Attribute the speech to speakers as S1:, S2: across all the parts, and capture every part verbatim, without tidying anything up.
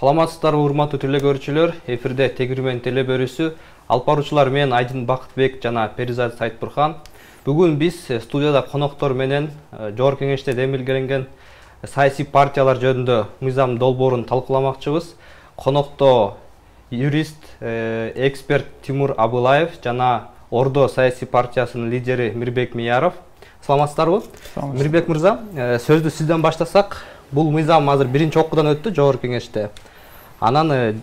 S1: Саламатсыздарбы урматтуу телекөрүүчүлөр, эфирде Тегирмен телебөрүсү, алып баруучулар мен Айдын Бакытбек жана Перизат Сайтбурхан. Бүгүн биз студияда коноктор менен Жогорку Кеңеште демилгеленген саясий партиялар жөнүндө мыйзам долбоорун талкууламакчыбыз. Конокто юрист, эксперт Тимур Абылаев жана Ордо саясий партиясынын лидери Мирбек Мияров. Саламатсыздарбы? Мирбек мырза, сөздү сизден баштасак. Бул мыйзам азыр биринчи окуудан өттү Жогорку Кеңеште. Анан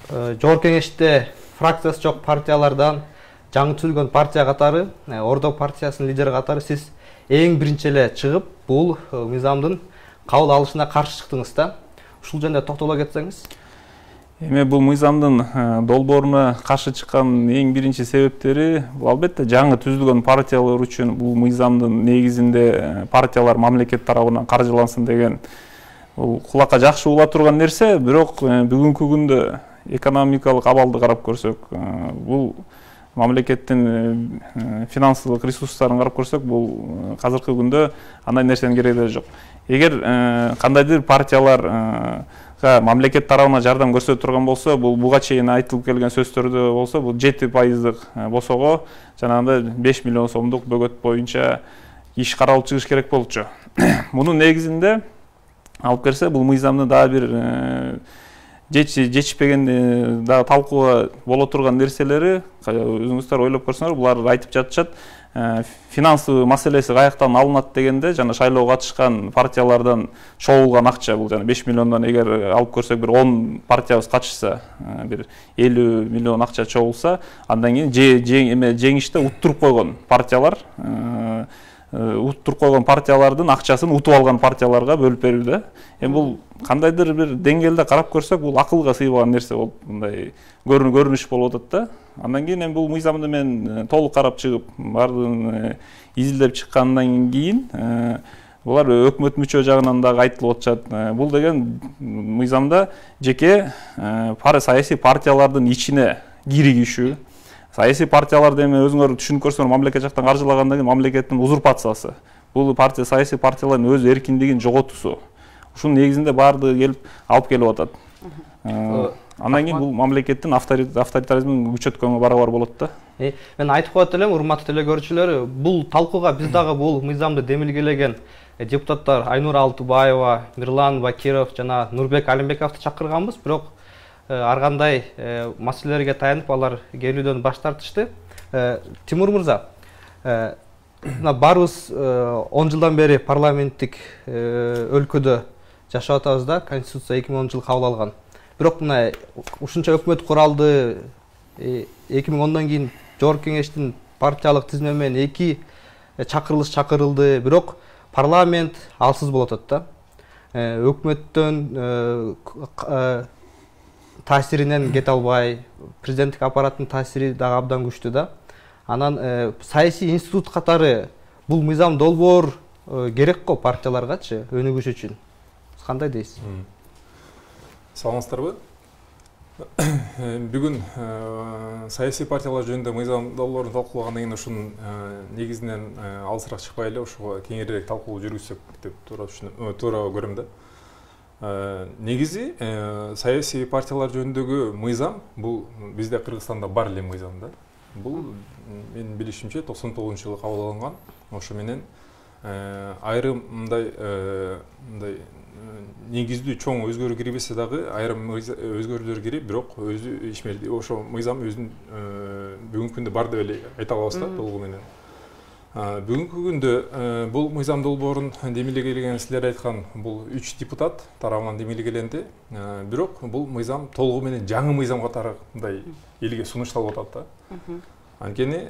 S1: Жогорку Кеңеште фракциясы жок партиялардан жаңы түзүлгөн партия катары, Ордо партиясынын лидери катары сиз эң биринчи эле чыгып, бул мыйзамдын кабыл алышына каршы чыктыңыз да. Ушул жөнүндө токтоло кетсеңиз.
S2: Эми бул мыйзамдын долбооруна каршы чыккан эң биринчи себептери бул албетте жаңы түзүлгөн партиялар үчүн бул мыйзамдын негизинде партиялар мамлекет тарабынан каржылансын деген бул кулакка жакшы угула турган нерсе, бирок бүгүнкү күндө экономикалык абалды карап көрсөк, бул мамлекеттин финансылык ресурстарын карап көрсөк, бул азыркы күндө андай нерсенин кереги жок. Эгер кандайдыр партиялар мамлекет тарабынан жардам көрсөтүп турган болсо, бул буга чейин айтылып келген сөздөрдө болсо, бул жети пайыздык босого жанагындай беш миллион сомдук бөгөт боюнча иш каралып чыгыш керек болчу. Мунун негизинде алып келсе, бул мыйзамдын дагы бир жечпеген дагы талкууга боло турган нерселери, өзүңүздөр ойлоп көрсөңөр, булар айтып жатышат. Финансовый маселеси каяктан алынат дегенде, жана шайлоого катышкан партиялардан чогулган акча, бул жана беш миллиондон эгер алып көрсөк, бир он партиябыз катышса, бир элүү миллион акча чогулса, андан кийин жеңиште уттуруп койгон партиялар, уттуруп койгон партиялардын акчасын утуп алган партияларга бөлүп берүүдө. Эми бул кандайдыр бир деңгээлде карап көрсөк, бул акылга сыйбаган нерсе болуп, мындай көрүнүш болуп атат да. Андан кийин эми бул мыйзамды мен толук карап чыгып, баардыгын изилдеп чыккандан кийин, булар өкмөт мүчө жагынан дагы айтылып атышат. Бул деген мыйзамда жеке саясий партиялардын ичине киригишүү. Саясий партияларды эми өзүңөр түшүнүп көрсөңөр, мамлекет жактан каржылагандан кийин мамлекеттин узурпациясы. Бул партия саясий партиялардын өз эркиндигин жоготуусу. Ушунун негизинде баардыгы келип алып келип атат. Андан кийин бул мамлекеттин авторитаризмин күчөткөнгө барабар болот да.
S1: Мен айтып коет элем, урматтуу телекөрүүчүлөр, бул талкууга биз дагы бул мыйзамды демилгелеген депутаттар Айнура Алтыбаева, Мирлан Бакиров жана Нурбек Алимбековду чакырганбыз, бирок ар кандай маселелерге таянып алар келүүдөн баш тартышты. Тимур мырза, баарыбыз он жылдан бери парламенттик өлкөдө жашап атабыз да, Конституция эки миң онунчу жылы кабыл алган. Бирок мына ушунча өкмөт куралды, эки миң ондон кийин Жогорку Кеңештин партиялык тизме менен эки чакырылыш чакырылды, бирок парламент алсыз болуп атат да. Өкмөттөн таасиринен кете албай, президенттик аппараттын таасири дагы абдан күчтүү да. Анан саясий институт катары бул мыйзам долбоор керек го партияларгачы өнүгүш үчүн. Сиз кандай дейсиз?
S3: Саламатсыздарбы? Бүгүн саясий партиялар жөнүндө мыйзам долбоорун талкуулагандан кийин ушунун негизинен алысыраак чыкпай эле ошого кеңирээк талкуу жүргүзсөк деп туура түшүнөм, туура көрөм да. Негизи саясий партиялар жөнүндөгү мыйзам бул бизде Кыргызстанда бар эле мыйзам да. Бул менин билишимче токсон тогузунчу жылы кабыл алынган. Ошо менен айрым мындай мындай негиздүү чоң өзгөрүү кирбесе дагы айрым өзгөрүүлөр кирип, бирок өзү ишмерди. Ошо мыйзам өзүн бүгүнкү күндө бар деп эле айта алабыз да, толугу менен. Бүгүнкү күндө бул мыйзам долбоорун демилгелеген, силер айткан бул үч депутат тарабынан демилгеленди. Бирок бул мыйзам толугу менен жаңы мыйзам катары мындай элге сунушталып атат да. Анткени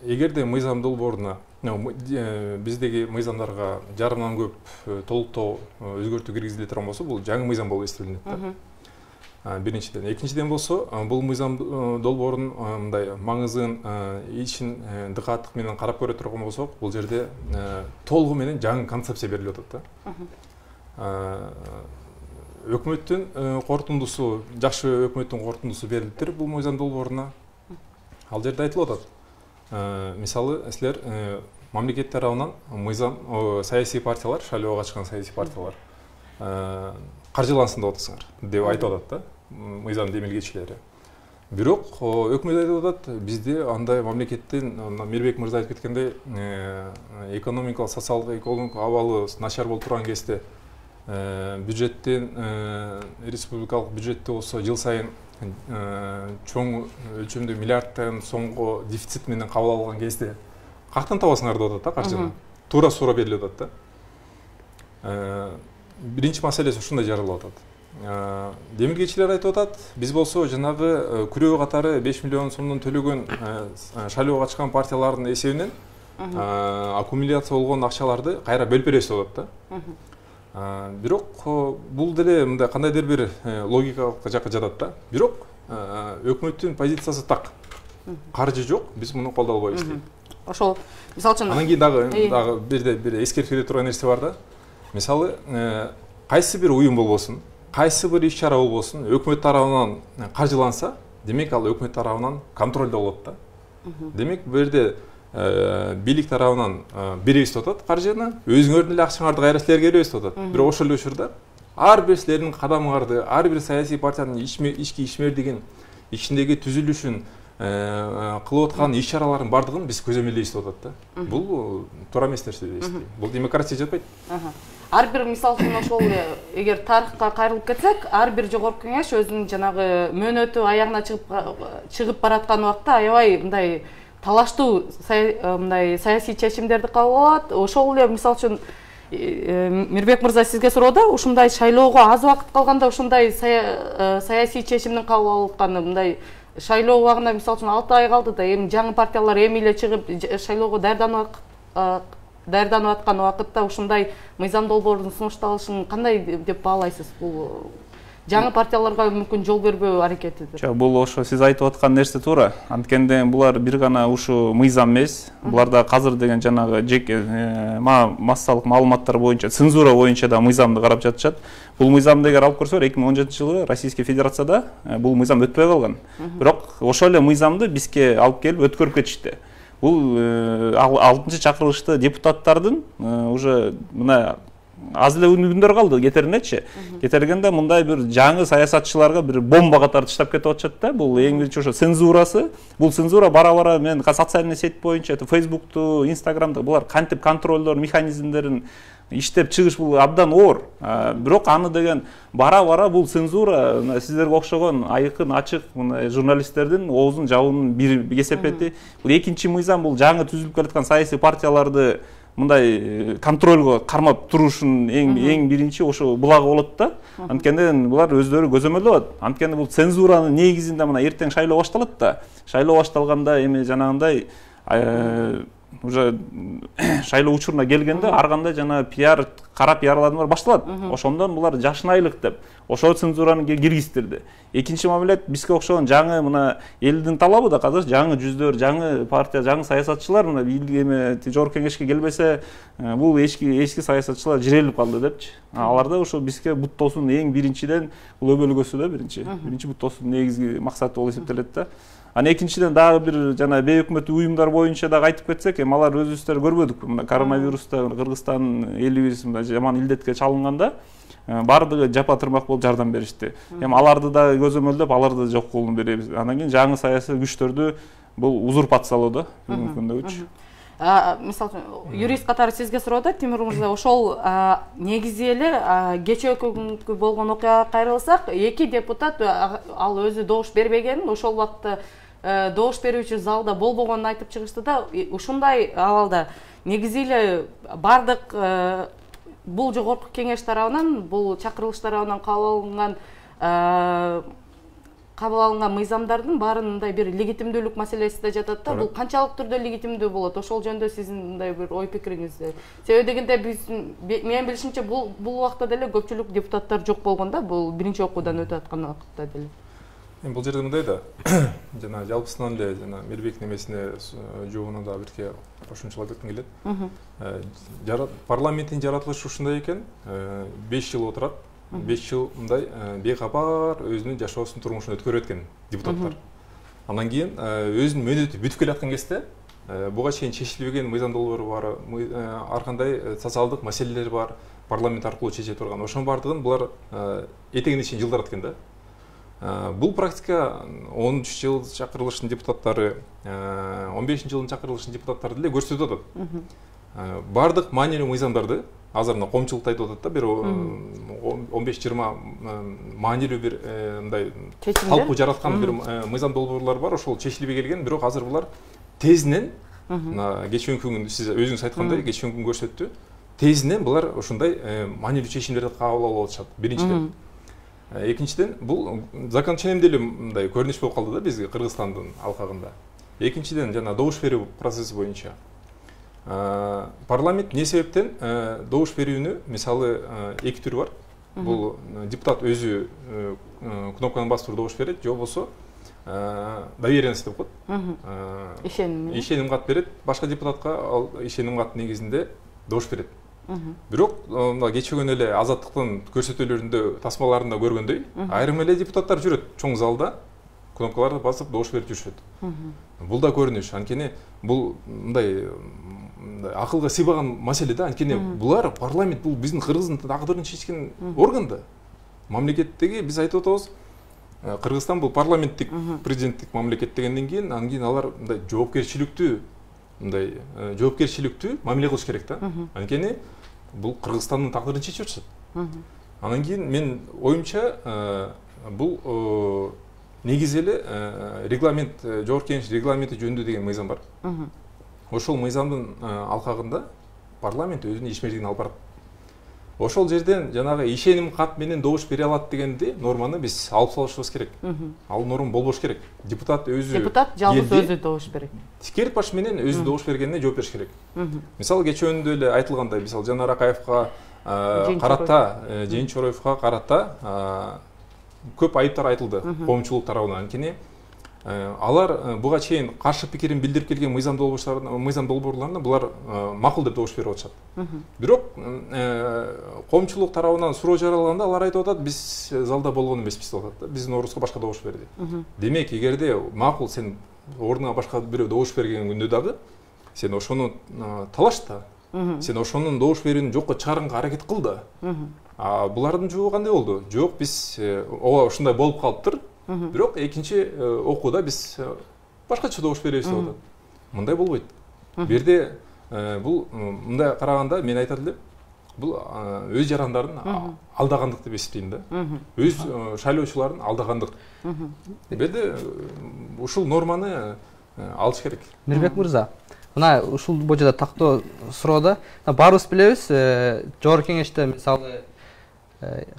S3: эгерде мыйзам долбооруна биздеги мыйзамдарга жарымдан көп толуктоо өзгөртүү киргизиле турган болсо, бул жаңы мыйзам болуп эсептелинет да. Биринчиден, экинчиден болсо, бул мыйзам долбоорунун мындай маңызын, ичин дыкаттык менен карап көрө турган болсок, бул жерде толугу менен жаңы концепция берилип атат да. Өкмөттүн корутундусу, жакшы өкмөттүн корутундусу берилиптир бул мыйзам долбооруна. Ал жерде айтылып атат. Мисалы, силер мамлекет тарабынан мыйзам саясий партиялар, шайлоого катышкан саясий партиялар каржылансын деп атасыңар деп айтып атат да мыйзам демилгечилери. Бирок өкмөт айтып атат, бизде андай мамлекеттен Мирбек мырза айтып кеткендей экономикалык, социалдык, экологиялык абалы начар болуп турган кезде бюджеттен республикалык бюджетте болсо жыл сайын чоң өлчөмдө миллиардтан сомго дефицит менен кабыл алган кезде каяктан табасыңар деп атат да каржыны. Туура суура берилип атат да. Биринчи маселеси ушундай жаралып атат. Демилгечилер айтып атат, биз болсо жанагы күрөө катары беш миллион сомдон төлөгөн шайлоого катышкан партиялардын эсебинен аккумуляция болгон акчаларды кайра бөлүп беребиз деп атат да. Бирок бул деле мындай кандайдыр бир логикалык жакка жатат да. Бирок өкмөттүн позициясы так. Каржы жок, биз муну колдой албайбыз дейт.
S4: Ошол мисалы үчүн
S3: анан кийин дагы дагы бирде бир эскертип кете турган нерсе бар да. Мисалы, кайсы бир уюм болбосун, кайсы бир иш-чара болбосун, өкмөт тарабынан каржыланса, демек ал өкмөт тарабынан контролдо болот да. Демек бул жерде бийлик тарабынан беребиз деп атат каржыны, өзүңөрдүн эле акчаңарды кайра силерге беребиз деп атат. Бирок ошол эле учурда ар бир силердин кадамыңарды, ар бир саясий партиянын ички ишмердигин, ичиндеги түзүлүшүн кылып аткан иш-чаралардын бардыгын биз көзөмөлдөйбүз деп атат да. Бул туура эмес нерсе деп эсептейм. Бул демократия жатпайт.
S4: Ар бир мисалы үчүн ошол эгер тарыхка кайрылып кетсек, ар бир жогорку кеңеш өзүнүн жанагы мөөнөтү аягына чыгып чыгып бараткан убакта аябай мындай талаштуу мындай саясий чечимдерди кабыл алат. Ошол эле мисалы үчүн Мирбек мырза сизге суроодо, ушундай шайлоого аз убакыт калганда ушундай саясий чечимдин кабыл алып атканы мындай шайлоо убагында мисалы үчүн алты ай калды да, эми жаңы партиялар эми эле чыгып шайлоого даярданып даярданып аткан убакытта ушундай мыйзам долбоордун сунушталышын кандай деп баалайсыз? Бул жаңы партияларга мүмкүн жол бербөө аракетиdir.
S2: Жок, бул ошо сиз айтып аткан нерсе туура. Анткенде булар бир гана ушу мыйзам эмес. Буларда казыр деген жанагы жеке массалык маалыматтар боюнча, цензура боюнча да мыйзамды карап жатышат. Бул мыйзамды эгер алып көрсөөр, эки миң он жетинчи жылы Российский Федерацияда бул мыйзам өтпөй калган. Бирок ошол эле мыйзамды бизге алып келип өткөрүп кетишти. Бул алтынчы чакырылышты депутаттардын уже мына аз эле күндөр калды кетеринечи. Кетергенде мындай бир жаңы саясатчыларга бир бомба катары таштап кетип атышат да. Бул эң биринчи ошо цензурасы. Бул цензура бара-бара мен социальный сеть боюнча, Facebook'ту, Instagram'да булар кантип контролдор механизмдерин иштеп чыгыш бул абдан оор. Бирок аны деген бара-бара бул цензура сиздерге окшогон айкын ачык журналисттердин оозун жабуунун бир кесепети. Бул экинчи мыйзам бул жаңы түзүлүп келаткан саясий партияларды мындай контролго кармап турушун эң эң биринчи ошо булагы болот да. Анткенде булар өздөрү көзөмөлдөп. Анткенде бул цензуранын негизинде мына эртең шайлоо башталат да. Шайлоо башталганда эми жанагындай уже шайлоо учуруна келгенде ар кандай жана пиар, кара пиарладымдар башталат. Ошондон булар жашынайлык деп ошо цензураны киргиздирди. Экинчи мамилет бизге окшогон жаңы мына элдин талабы да казыр жаңы жүздөр, жаңы партия, жаңы саясатчылар мына эме жогорку кеңешке келбесе, бул эски эски саясатчылар жирелип калды депчи. Аларда ошо бизге буттоосун эң биринчиден бул өбөлгөсү да биринчи. Биринчи буттоосун негизги максаты болуп эсептелет да. Аны экинчиден дагы бир жана бейөкмөттүк уюмдар боюнча дагы айтып кетсек, эми алар өзүбүздөр көрбөдүк. Мына коронавируста Кыргызстан элибиз жаман илдетке чалынганда бардыгы жапа тырмак болуп жардам беришти. Эми аларды да көзөмөлдөп, аларды жок кылууну беребиз. Андан кийин жаңы саясий күчтөрдү бул узурпациялоо да бүгүнкү күндөгүчү.
S4: Мисалы юрист катары сизге суроодо, Тимур мырза, ошол негизи эле кечээкү болгон окуяга кайрылсак, эки депутат ал өзү добуш бербегенин, ошол убакта добуш берүүчү залда болбогонун айтып чыгышты да. Ушундай абалда негизи эле бардык бул жогорку кеңеш тарабынан, бул чакырылыш тарабынан кабыл алынган кабыл алынган мыйзамдардын баарын мындай бир легитимдүүлүк маселеси да жатат да. Бул канчалык түрдө легитимдүү болот? Ошол жөнүндө сиздин мындай бир ой пикириңиз? Себеби дегенде биз менин билишимче бул бул убакта деле көпчүлүк депутаттар жок болгон да, бул биринчи окуудан өтүп аткан убакытта деле.
S3: Эми бул жерде мындай да, жана жалпысынан эле жана Мирбек немесине жообуна да бирке кошумчалап кетким келет. Парламенттин жаратылышы ушундай экен, беш жыл отурат. беш жыл мындай бейкапар өзүнүн жашоосун, турмушун өткөрүп өткөн депутаттар. Андан кийин өзүнүн мөөнөтү бүтүп келаткан кезде буга чейин чечилбеген мыйзам долбоору бар, ар кандай социалдык маселелер бар, парламент аркылуу чече турган. Ошонун бардыгын булар этегине чейин жылдырат экен да. Бул практика он үч жыл чакырылыштын депутаттары, он бешинчи жылдын чакырылыштын депутаттары деле көрсөтүп атат. Бардык маанилүү мыйзамдарды азыр мына коомчулукта айтып атат да, бир он беш жыйырма маанилүү бир мындай талкуу жараткан бир мыйзам долбоорлор бар, ошол чечилбей келген, бирок азыр булар тезинен, мына кечээ күнү сиз өзүңүз айткандай, кечээ күн көрсөттү, тезинен булар ушундай маанилүү чечимдерди кабыл алып атышат. Биринчиден. Экинчиден, бул закон ченемделүү мындай көрүнүш болуп калды да бизге Кыргызстандын алкагында. Экинчиден, жана добуш берүү процесси боюнча парламент эмне себептен добуш берүүнү, мисалы, эки түрү бар. Бул депутат өзү кнопканы басып туруп добуш берет, же болбосо доверенность деп коет.
S4: Ишеним.
S3: Ишеним кат берет, башка депутатка ал ишеним кат негизинде добуш берет. Бирок мына кечөгөн эле Азаттыктын көрсөтүүлөрүндө, тасмаларында көргөндөй, айрым эле депутаттар жүрөт чоң залда, кнопкаларды басып добуш берип жүрүшөт. Бул да көрүнүш. Анткени бул мындай акылга сыйбаган маселе да. Анткени булар парламент, бул биздин Кыргыздын тагдырын чечкен орган да. Мамлекеттеги биз айтып атабыз, Кыргызстан бул парламенттик, президенттик мамлекет дегенден кийин, андан кийин алар мындай жоопкерчиликтүү, мындай жоопкерчиликтүү мамиле кылыш керек да. Анткени бул Кыргызстандын тагдырын чечип атышат. Андан кийин мен оюмча бул негизи эле регламент, жогорку кеңеш регламенти жөнүндө деген мыйзам бар. Ошол мыйзамдын алкагында парламент өзүнүн ишмердигин алып барат. Ошол жерден жанагы ишеним кат менен добуш бере алат дегенди норманы биз алып салышыбыз керек. Ал норма болбош керек. Депутат өзү
S4: депутат жалгыз өзү добуш берет.
S3: Тикер баш менен өзү добуш бергенине жооп бериш керек. Мисалы кечөөндө эле айтылгандай, мисалы Жанар Акаевга карата, Жээн Чороевго карата көп айыптар айтылды коомчулук тарабынан. Анткени алар буга чейин каршы пикирин билдирип келген мыйзам долбоорлорун, мыйзам долбоорлорун булар макул деп добуш берип атышат. Бирок коомчулук тарабынан суроо жаралганда алар айтып атат, биз залда болгон эмеспиз деп атат да. Биздин ордубузга башка добуш берди. Демек, эгерде макул сен ордуңа башка бирөө добуш берген күндө дагы сен ошону талаш да. Сен ошонун добуш берүүнү жокко чыгарганга аракет кыл да. А булардын жообу кандай болду? Жок, биз ооба ушундай болуп калыптыр. Бирок экинчи окууда биз башкача добуш беребиз деп атат. Мындай болбойт. Бу жерде бул мындай караганда мен айтат элем, бул өз жарандарын алдагандык деп эсептейм да. Өз шайлоочуларын алдагандык. Бу жерде ушул норманы алыш керек.
S1: Мирбек мырза, мына ушул боюнча тактоо суроодо баарыбыз билебиз, жогорку кеңеште мисалы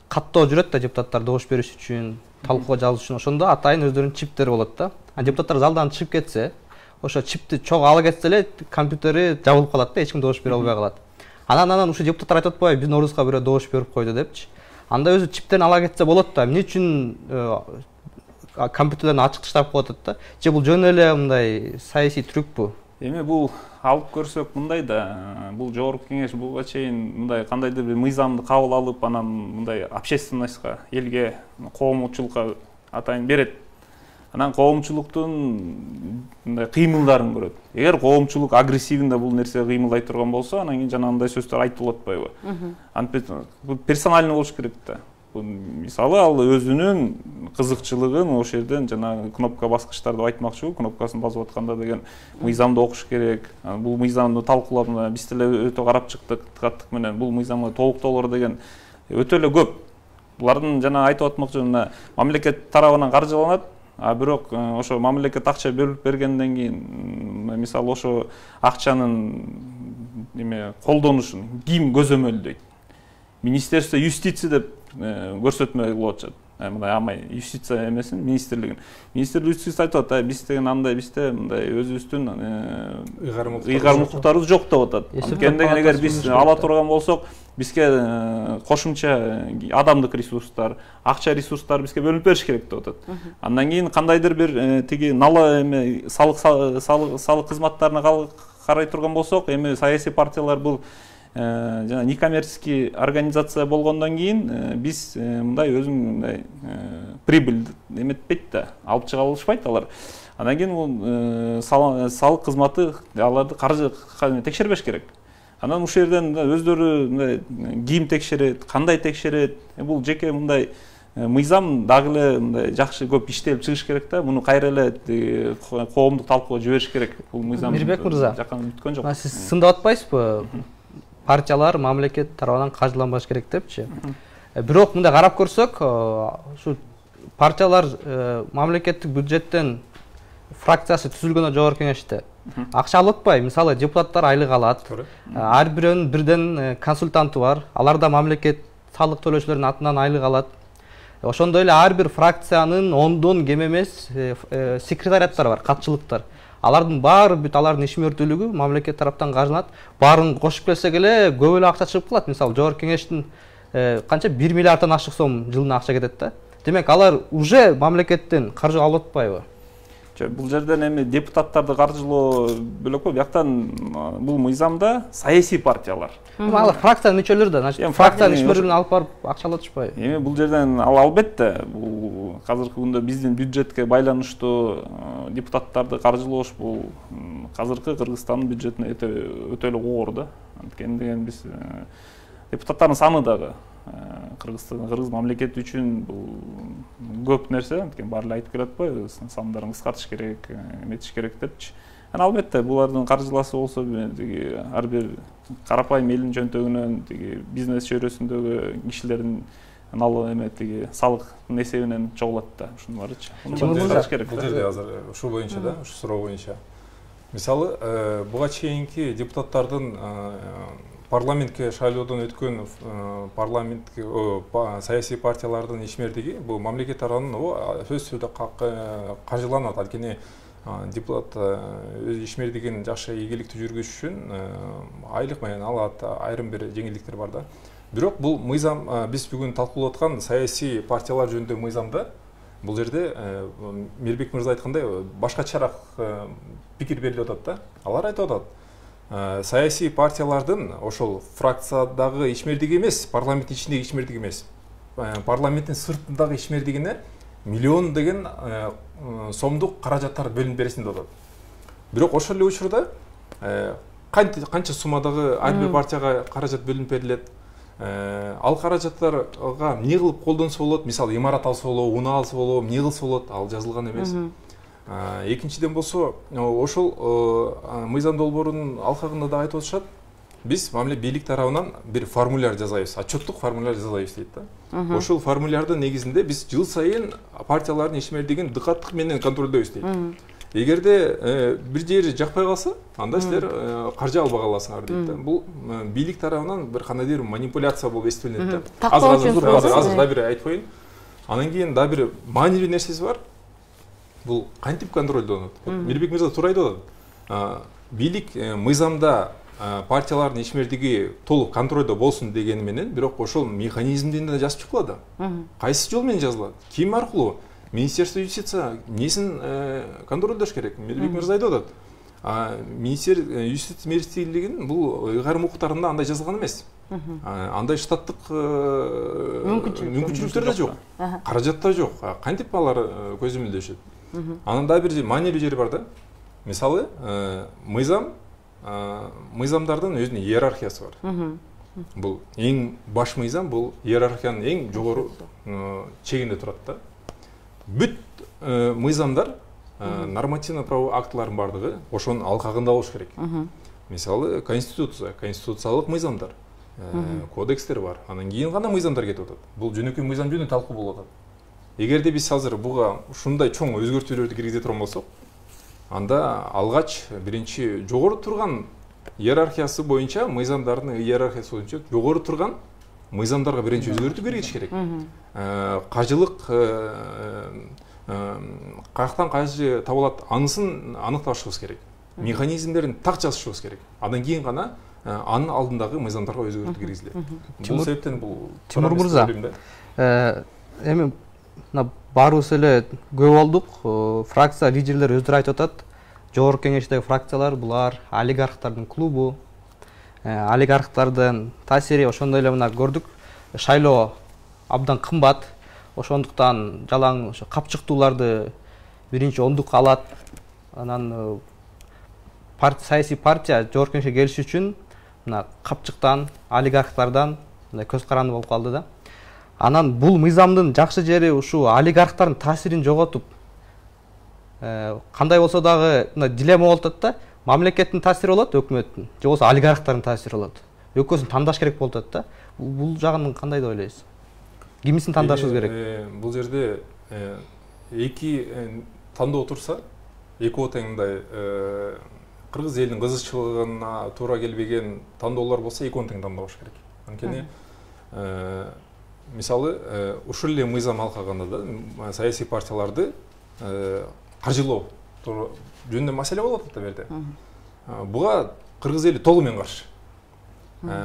S1: каттоо жүрөт да депутаттар добуш бериш үчүн, талкууга жазыш үчүн, ошондо атайын өздөрүнүн чиптери болот да. А депутаттар залдан чыгып кетсе, ошо чипти чогуу ала кетсе эле компьютери жабылып калат да, эч ким добуш бере албай калат. Анан анан ушул депутаттар айтып атпайбы, биздин ордубузга бирөө добуш берип койду депчи. Анда өзү чиптерин ала кетсе болот да, эмне үчүн компьютерлерин ачык таштап коюп атат да? Же бул жөн эле мындай саясий трюкпу?
S2: Эми бул алып көрсөк мындай да, бул жогорку кеңеш буга чейин мындай кандайдыр бир мыйзамды кабыл алып, анан мындай общественностька, элге, коомчулукка атайын берет. Анан коомчулуктун мындай кыймылдарын көрөт. Эгер коомчулук агрессивдүү бул нерсе кыймылдай турган болсо, анан кийин жанагындай сөздөр айтылып атпайбы? Антип бул персональный болуш керек да. Мисалы ал өзүнүн кызыкчылыгын ошол жерден жана кнопка баскычтарды айтмакчы, кнопкасын басып атканда деген мыйзамды окуш керек. Бул мыйзамды талкуулап, биз деле өтө карап чыктык, каттык менен бул мыйзамга толуктоолор деген өтө эле көп. Булардын жана айтып атмакчы, мамлекет тарабынан каржыланат, а бирок ошо мамлекет акча берип бергенден кийин мисалы ошо акчанын эме колдонушун ким көзөмөлдөйт? Министерство юстиции деп көрсөтмө кылып атышат. Мындай амай юстиция эмесин, министрлигин. Министрлик юстиция айтып атат, биз деген андай, бизде мындай өзүбүздүн ыйгарым укуктарыбыз жок деп атат. Анткени деген эгер биз ала турган болсок, бизге кошумча адамдык ресурстар, акча ресурстары бизге бөлүнүп бериш керек деп атат. Андан кийин кандайдыр бир тиги нала эме салык салык салык кызматтарына карай турган болсок, эми саясий партиялар бул жана некоммерческий организация болгондон кийин биз мындай өзүң мындай прибыль эметпейт да, алып чыга алышпайт алар. Андан кийин бул салык кызматы аларды каржы текшербеш керек. Анан ушул жерден өздөрү мындай ким текшерет, кандай текшерет, бул жеке мындай мыйзам дагы эле мындай жакшы көп иштелип чыгыш керек да. Муну кайра эле коомдук талкууга жибериш керек. Бул мыйзам
S1: Мирбек мырза,
S2: жаккан бүткөн жок.
S1: Сиз сындап атпайсызбы? Партиялар мамлекет тарабынан каржыланбаш керек депчи. Бирок мындай карап көрсөк, ушу партиялар мамлекеттик бюджеттен фракциясы түзүлгөндө жогорку кеңеште акча алып атпайбы? Мисалы депутаттар айлык алат. Ар бирөөнүн бирден консультанты бар. Алар да мамлекет салык төлөөчүлөрдүн атынан айлык алат. Ошондой эле ар бир фракциянын ондон кем эмес секретариаттары бар, катчылыктар. Алардын баары бүт алардын ишмердүүлүгү мамлекет тараптан каржыланат. Баарын кошуп келсек эле көп эле акча чыгып калат. Мисалы жогорку кеңештин канча бир миллиарддан ашык сом жылына акча кетет да. Демек алар уже мамлекеттен каржы алып атпайбы?
S2: Бул жерден эми депутаттарды каржылоо бөлөк го, бияктан бул мыйзамда саясий партиялар.
S1: Ал фракциянын мүчөлөрү да, значит, фракциянын ишмердүүлүгүн алып барып акча алып атышпайбы?
S2: Эми бул жерден ал албетте бул азыркы күндө биздин бюджетке байланыштуу депутаттарды каржылоош бул азыркы Кыргызстандын бюджетине өтө эле оор да. Анткени деген биз депутаттардын саны дагы Кыргызстан, Кыргыз мамлекети үчүн бул көп нерсе, анткени баары эле айтып келе атпайбы, сандарын кыскартыш керек, эметиш керек депчи. Анан албетте булардын каржыласы болсо ар бир карапайым элдин жөнтөгүнөн, бизнес чөйрөсүндөгү кишилердин налог эметиги салыктын эсебинен чогулат да, ушунун баарычы.
S3: Бул жерде азыр ушул боюнча да, ушу суроо боюнча. Мисалы, буга чейинки депутаттардын парламентке шайлоодон өткөн парламентке саясий партиялардын ишмердиги бул мамлекет тарабынан сөзсүз түрдө каржыланат. Анткени депутат өз ишмердигин жакшы ийгиликтүү жүргүзүш үчүн айлык менен алат, айрым бир жеңилдиктер бар да. Бирок бул мыйзам биз бүгүн талкуулап аткан саясий партиялар жөнүндөгү мыйзамда бул жерде Мирбек мырза айткандай башкачараак пикир берилип атат да. Алар айтып атат, саясий партиялардын ошол фракциядагы ишмердиги эмес, парламенттин ичиндеги ишмердиги эмес, парламенттин сыртындагы ишмердигине миллион деген сомдук каражаттар бөлүнүп бересин деп атат. Бирок ошол эле учурда канча суммадагы ар бир партияга каражат бөлүнүп берилет, ал каражаттарга эмне кылып колдонсо болот, мисалы имарат алса болобу, унаа алса болобу, эмне кылса болот, ал жазылган эмес. Экинчиден болсо, ошол мыйзам долбоорунун алкагында да айтып атышат, биз мамиле бийлик тарабынан бир формуляр жасайбыз, отчеттук формуляр жасайбыз дейт да. Ошол формулярдын негизинде биз жыл сайын партиялардын ишмердигин дыкаттык менен контролдойбуз дейт. Эгерде бир жери жакпай калса, анда силер каржы албай каласыңар дейт да. Бул бийлик тарабынан бир кандайдыр манипуляция болуп эстелинет да. Азыр азыр да бир айтып коеюн. Анан кийин да бир маанилүү нерсеси бар. Бул кантип контролдонот? Мирбек мырза туура айтып атат. Бийлик мыйзамда партиялардын ишмердиги толук контролдо болсун дегени менен, бирок ошол механизмдин да жазып чыкпады да. Кайсы жол менен жазылат? Ким аркылуу? Министерство юстиция несин контролдош керек? Мирбек мырза айтып атат. Министер юстиция министрлигинин бул ыйгарым укуктарында андай жазылган эмес. Андай штаттык мүмкүнчүлүктөр да жок, каражат да жок. Кантип алар көзөмөлдөшөт? Анан да бир маанилүү жери бар да. Мисалы, мыйзам мыйзамдардын өзүнүн иерархиясы бар. Бул эң баш мыйзам, бул иерархиянын эң жогору чегинде турат да. Бүт мыйзамдар, нормативно правовой актылардын бардыгы ошонун алкагында болуш керек. Мисалы, конституция, конституциялык мыйзамдар, кодекстер бар. Анан кийин гана мыйзамдар кетип атат. Бул жөнөкөй мыйзам жөнүндө талкуу болуп атат. Эгерде биз азыр буга ушундай чоң өзгөртүүлөрдү киргизе турган болсок, анда алгач биринчи жогору турган иерархиясы боюнча, мыйзамдардын иерархиясы боюнча жогору турган мыйзамдарга биринчи өзгөртүү бергиш керек. Каржылык каяктан каржы табылат, анысын аныкташыбыз керек. Механизмдерин так жазышыбыз керек. Андан кийин гана анын алдындагы мыйзамдарга өзгөртүү киргизилет. Бул себептен бул
S1: Тимур мырза, эми баарыбыз эле көп болдук, фракция лидерлери өздөрү айтып атат, жогорку кеңештеги фракциялар булар олигархтардын клубу. олигархтардын таасири ошондой эле мына көрдүк. Шайлоо абдан кымбат. Ошондуктан жалаң ошо капчыктууларды биринчи ондукка алат. Анан саясий партия жогорку кеңешке келиш үчүн мына капчыктан, олигархтардан мындай көз каранды болуп калды да. Анан бул мыйзамдын жакшы жери ушу олигархтардын таасирин жоготуп, кандай болсо дагы мына дилемма болуп атат да. Мамлекеттин таасири болот, өкмөттүн, же болбосо олигархтардын таасири болот. Экөөсүн тандаш керек болуп атат да. Бул жагын кандай деп ойлойсуз? Кимисин тандашыбыз керек?
S3: Бул жерде эки тандоо турса, экөө тең мындай кыргыз элинин кызыкчылыгына туура келбеген тандоолор болсо, экөөнү тең тандабаш керек. Анткени мисалы ушул эле мыйзам алкаганда да саясий партияларды каржылоо жөнүндө маселе болуп атат да берде. Буга кыргыз эли толук менен каршы.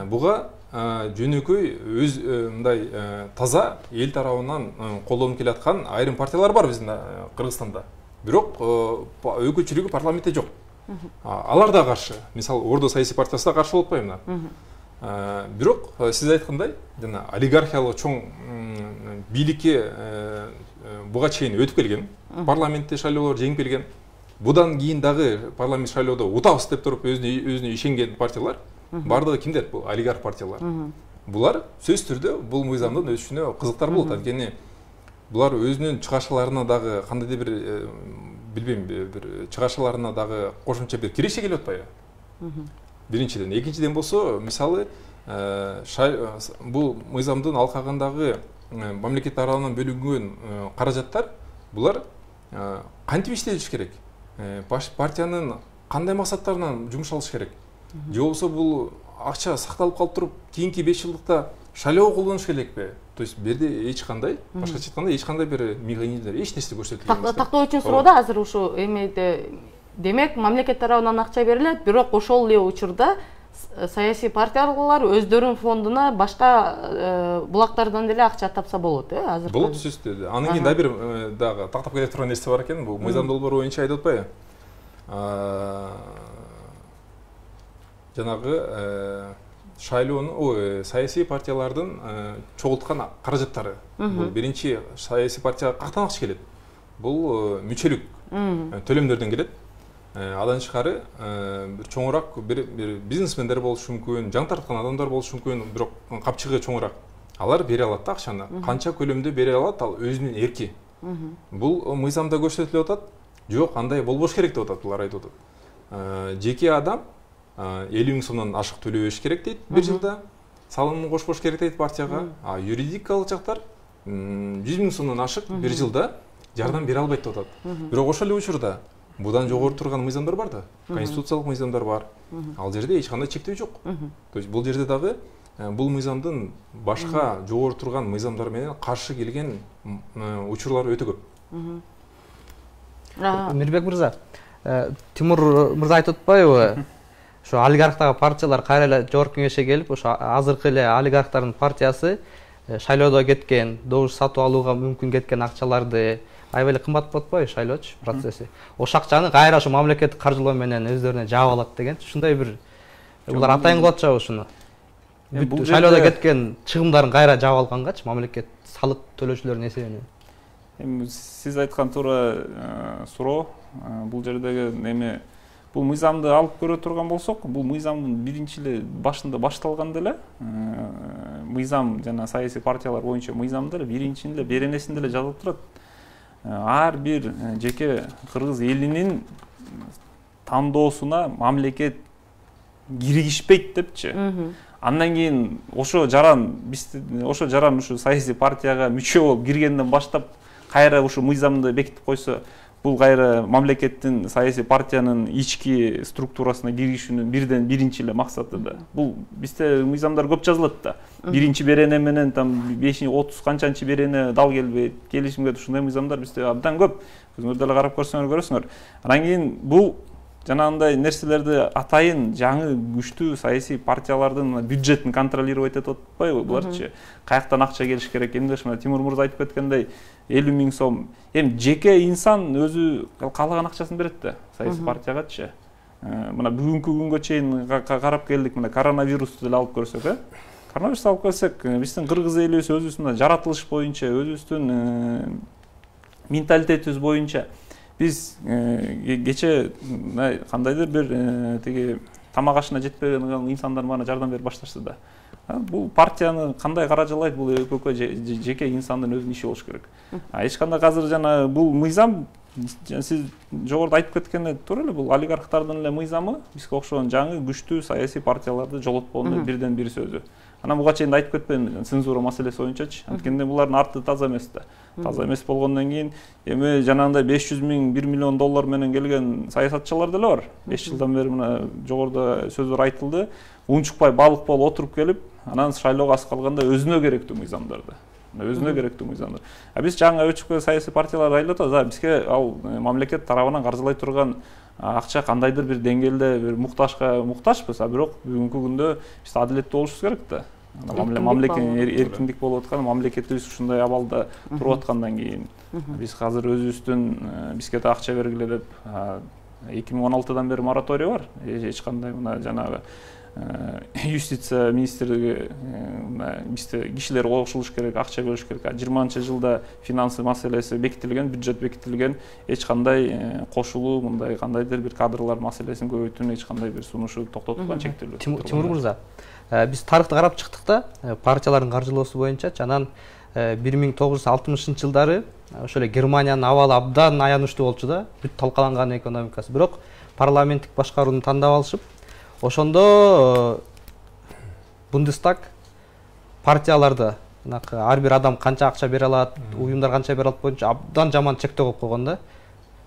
S3: Буга жөнөкөй өз мындай таза эл тарабынан колдонуп келаткан айрым партиялар бар биздин Кыргызстанда. Бирок өкүлчүлүгү парламентте жок. Алар да каршы. Мисалы Ордо саясий партиясы да каршы болуп атпайбы мына. Бирок сиз айткандай, жана олигархиялык чоң бийликке буга чейин өтүп келген, парламентте шайлоолор жеңип келген. Будан кийин дагы парламент шайлоодо утабыз деп туруп өзүнө өзүнө ишенген партиялар бардыгы кимдер? Бул олигарх партиялар. Булар сөзсүз түрдө бул мыйзамдын өтүшүнө кызыктар болот. Анткени булар өзүнүн чыгашаларына дагы кандайдыр бир билбейм, бир чыгашаларына дагы кошумча бир киреше келип атпайбы? Биринчиден, экинчиден болсо, мисалы, бул мыйзамдын алкагындагы мамлекет тарабынан бөлүнгөн каражаттар, булар кантип иштелиш керек? Партиянын кандай максаттарына жумшалыш керек? Же болбосо бул акча сакталып калып туруп, кийинки беш жылдыкта шайлоого колдонуш керекпи? То есть берде эч кандай, башкача айтканда эч кандай бир механизмдер, эч нерсе көрсөтүлбөйт эмес.
S4: Тактоо үчүн суроодо азыр ушу эмеде демек мамлекет тарабынан акча берилет, бирок ошол эле учурда саясий партиялар өздөрүнүн фондуна башка булактардан деле акча тапса болот, э? Азыр
S3: болот сөзсүз. Анан кийин да бир дагы тактап келе турган нерсе бар экен, бул мыйзам долбоору боюнча айтып атпайбы? Жанагы шайлоонун, ой, саясий партиялардын чогулткан каражаттары. Бул биринчи саясий партияга кактан акча келет. Бул мүчөлүк төлөмдөрдөн келет. Адан тышкары бир чоңураак бир бизнесмендер болушу мүмкүн, жаңы тарткан адамдар болушу мүмкүн, бирок капчыгы чоңураак. Алар бере алат да акчаны. Канча көлөмдө бере алат, ал өзүнүн эрки. Бул мыйзамда көрсөтүлүп атат. Жок, андай болбош керек деп атат, булар айтып атат. Жеке адам элүү миң сомдон ашык төлөбөш керек дейт бир жылда. Салымын кошпош керек дейт партияга. А юридикалык жактар жүз миң сомдон ашык бир жылда жардам бере албайт деп атат. Бирок ошол эле учурда будан жогору турган мыйзамдар бар да. Конституциялык мыйзамдар бар. Ал жерде эч кандай чектөө жок. То есть бул жерде дагы бул мыйзамдын башка жогору турган мыйзамдар менен каршы келген учурлар өтө көп.
S1: Мирбек мырза, Тимур мырза айтып атпайбы? Ошо олигархтагы партиялар кайра эле жогорку кеңешке келип, ошо азыркы эле олигархтардын партиясы шайлоодо кеткен, добуш сатып алууга мүмкүн кеткен акчаларды аябай эле кымбат болуп атпайбы шайлоочу процесси? Ошол акчаны кайра ошо мамлекеттик каржылоо менен өздөрүнө жаап алат деген. Ушундай бир булар атайын кылып атышабы ушуну? Шайлоодо кеткен чыгымдарын кайра жаап алгангачы мамлекет салык төлөөчүлөрдүн эсебинен.
S2: Эми сиз айткан туура суроо. Бул жердеги эме бул мыйзамды алып көрө турган болсок, бул мыйзамдын биринчи эле башында башталганда эле мыйзам жана саясий партиялар боюнча мыйзамда эле биринчинде эле беренесинде эле жазылып турат. Ар бир жеке кыргыз элинин тандоосуна мамлекет киргизбейт депчи. Андан кийин ошо жаран биз ошо жаран ушу саясий партияга мүчө болуп киргенден баштап кайра ушу мыйзамды бекитип койсо, бул кайра мамлекеттин саясий партиянын ички структурасына киришүүнүн бирден биринчи эле максаты да. Бул бизде мыйзамдар көп жазылат да. Биринчи берене менен там беш отуз канчанчы берене дал келбейт, келишимге ушундай мыйзамдар бизде абдан көп. Өзүңөр деле карап көрсөңөр көрөсүңөр. Анан кийин бул жанагындай нерселерди атайын жаңы күчтүү саясий партиялардын бюджетин контролировать этип атпайбы буларчы? Каяктан акча келиш керек? Эмне ушундай Тимур мырза айтып кеткендей элүү миң сом. Эми жеке инсан өзү каалаган акчасын берет да саясий партиягачы. мына бүгүнкү күнгө чейин карап келдик, мына коронавирусту деле алып көрсөк, э коронавирусту алып көрсөк, биздин кыргыз элибиз өзүбүздүн жаратылыш боюнча, өзүбүздүн менталитетибиз боюнча биз кече кандайдыр бир тиги тамак ашына жетпеген инсандар мага жардам берип башташты да. Бул партияны кандай каражалайт, бул экөө жеке инсандын өзүнүн иши болуш керек. Эч кандай азыр жана бул мыйзам, сиз жогоруда айтып кеткенде туура эле, бул олигархтардын эле мыйзамы бизге окшогон жаңы күчтүү саясий партияларды жолотпоонун бирден бир сөзү. Анан буга чейин айтып кетпейм, цензура маселеси боюнчачы. Анткенде булардын арты таза эмес да. Таза эмес болгондон кийин эми жанагындай беш жүз миң, бир миллион доллар менен келген саясатчылар деле бар. беш жылдан бери мына жогоруда сөздөр айтылды. Унчукпай балык болуп отуруп келип, анан шайлоого аз калганда өзүнө керектүү мыйзамдарды. Өзүнө керектүү мыйзамдар. А биз жаңы өчүккө саясий партиялар айтып атабыз, бизге ал мамлекет тарабынан каржылай турган акча кандайдыр бир деңгээлде бир муктажга муктажбыз, а бирок бүгүнкү күндө биз адилеттүү болушубуз керек да. Мамлекет эркиндик болуп аткан, мамлекетибиз ушундай абалда туруп аткандан кийин биз азыр өзүбүздүн бизге да акча бергиле деп эки миң он алтыдан бери мораторий бар. Эч кандай мына жанагы юстиция министрлиги бизде кишилер кошулуш керек, акча бөлүш керек. жыйырманчы жылда финансы маселеси бекитилген, бюджет бекитилген, эч кандай кошулуу мындай кандайдыр бир кадрлар маселесин көбөйтүүнү эч кандай бир сунушу токтотулган, чектелүү.
S1: Тимур мырза, биз тарыхты карап чыктык да, партиялардын каржылоосу боюнча, анан бир миң тогуз жүз алтымышынчы жылдары ошо эле Германиянын абалы абдан аянычтуу болчу да, бүт талкаланган экономикасы. Бирок парламенттик башкарууну тандап алышып, ошондо Бундестаг партияларды, ар бир адам канча акча бере алат, уюмдар канча бере алат боюнча абдан жаман чектөө коюп койгон да.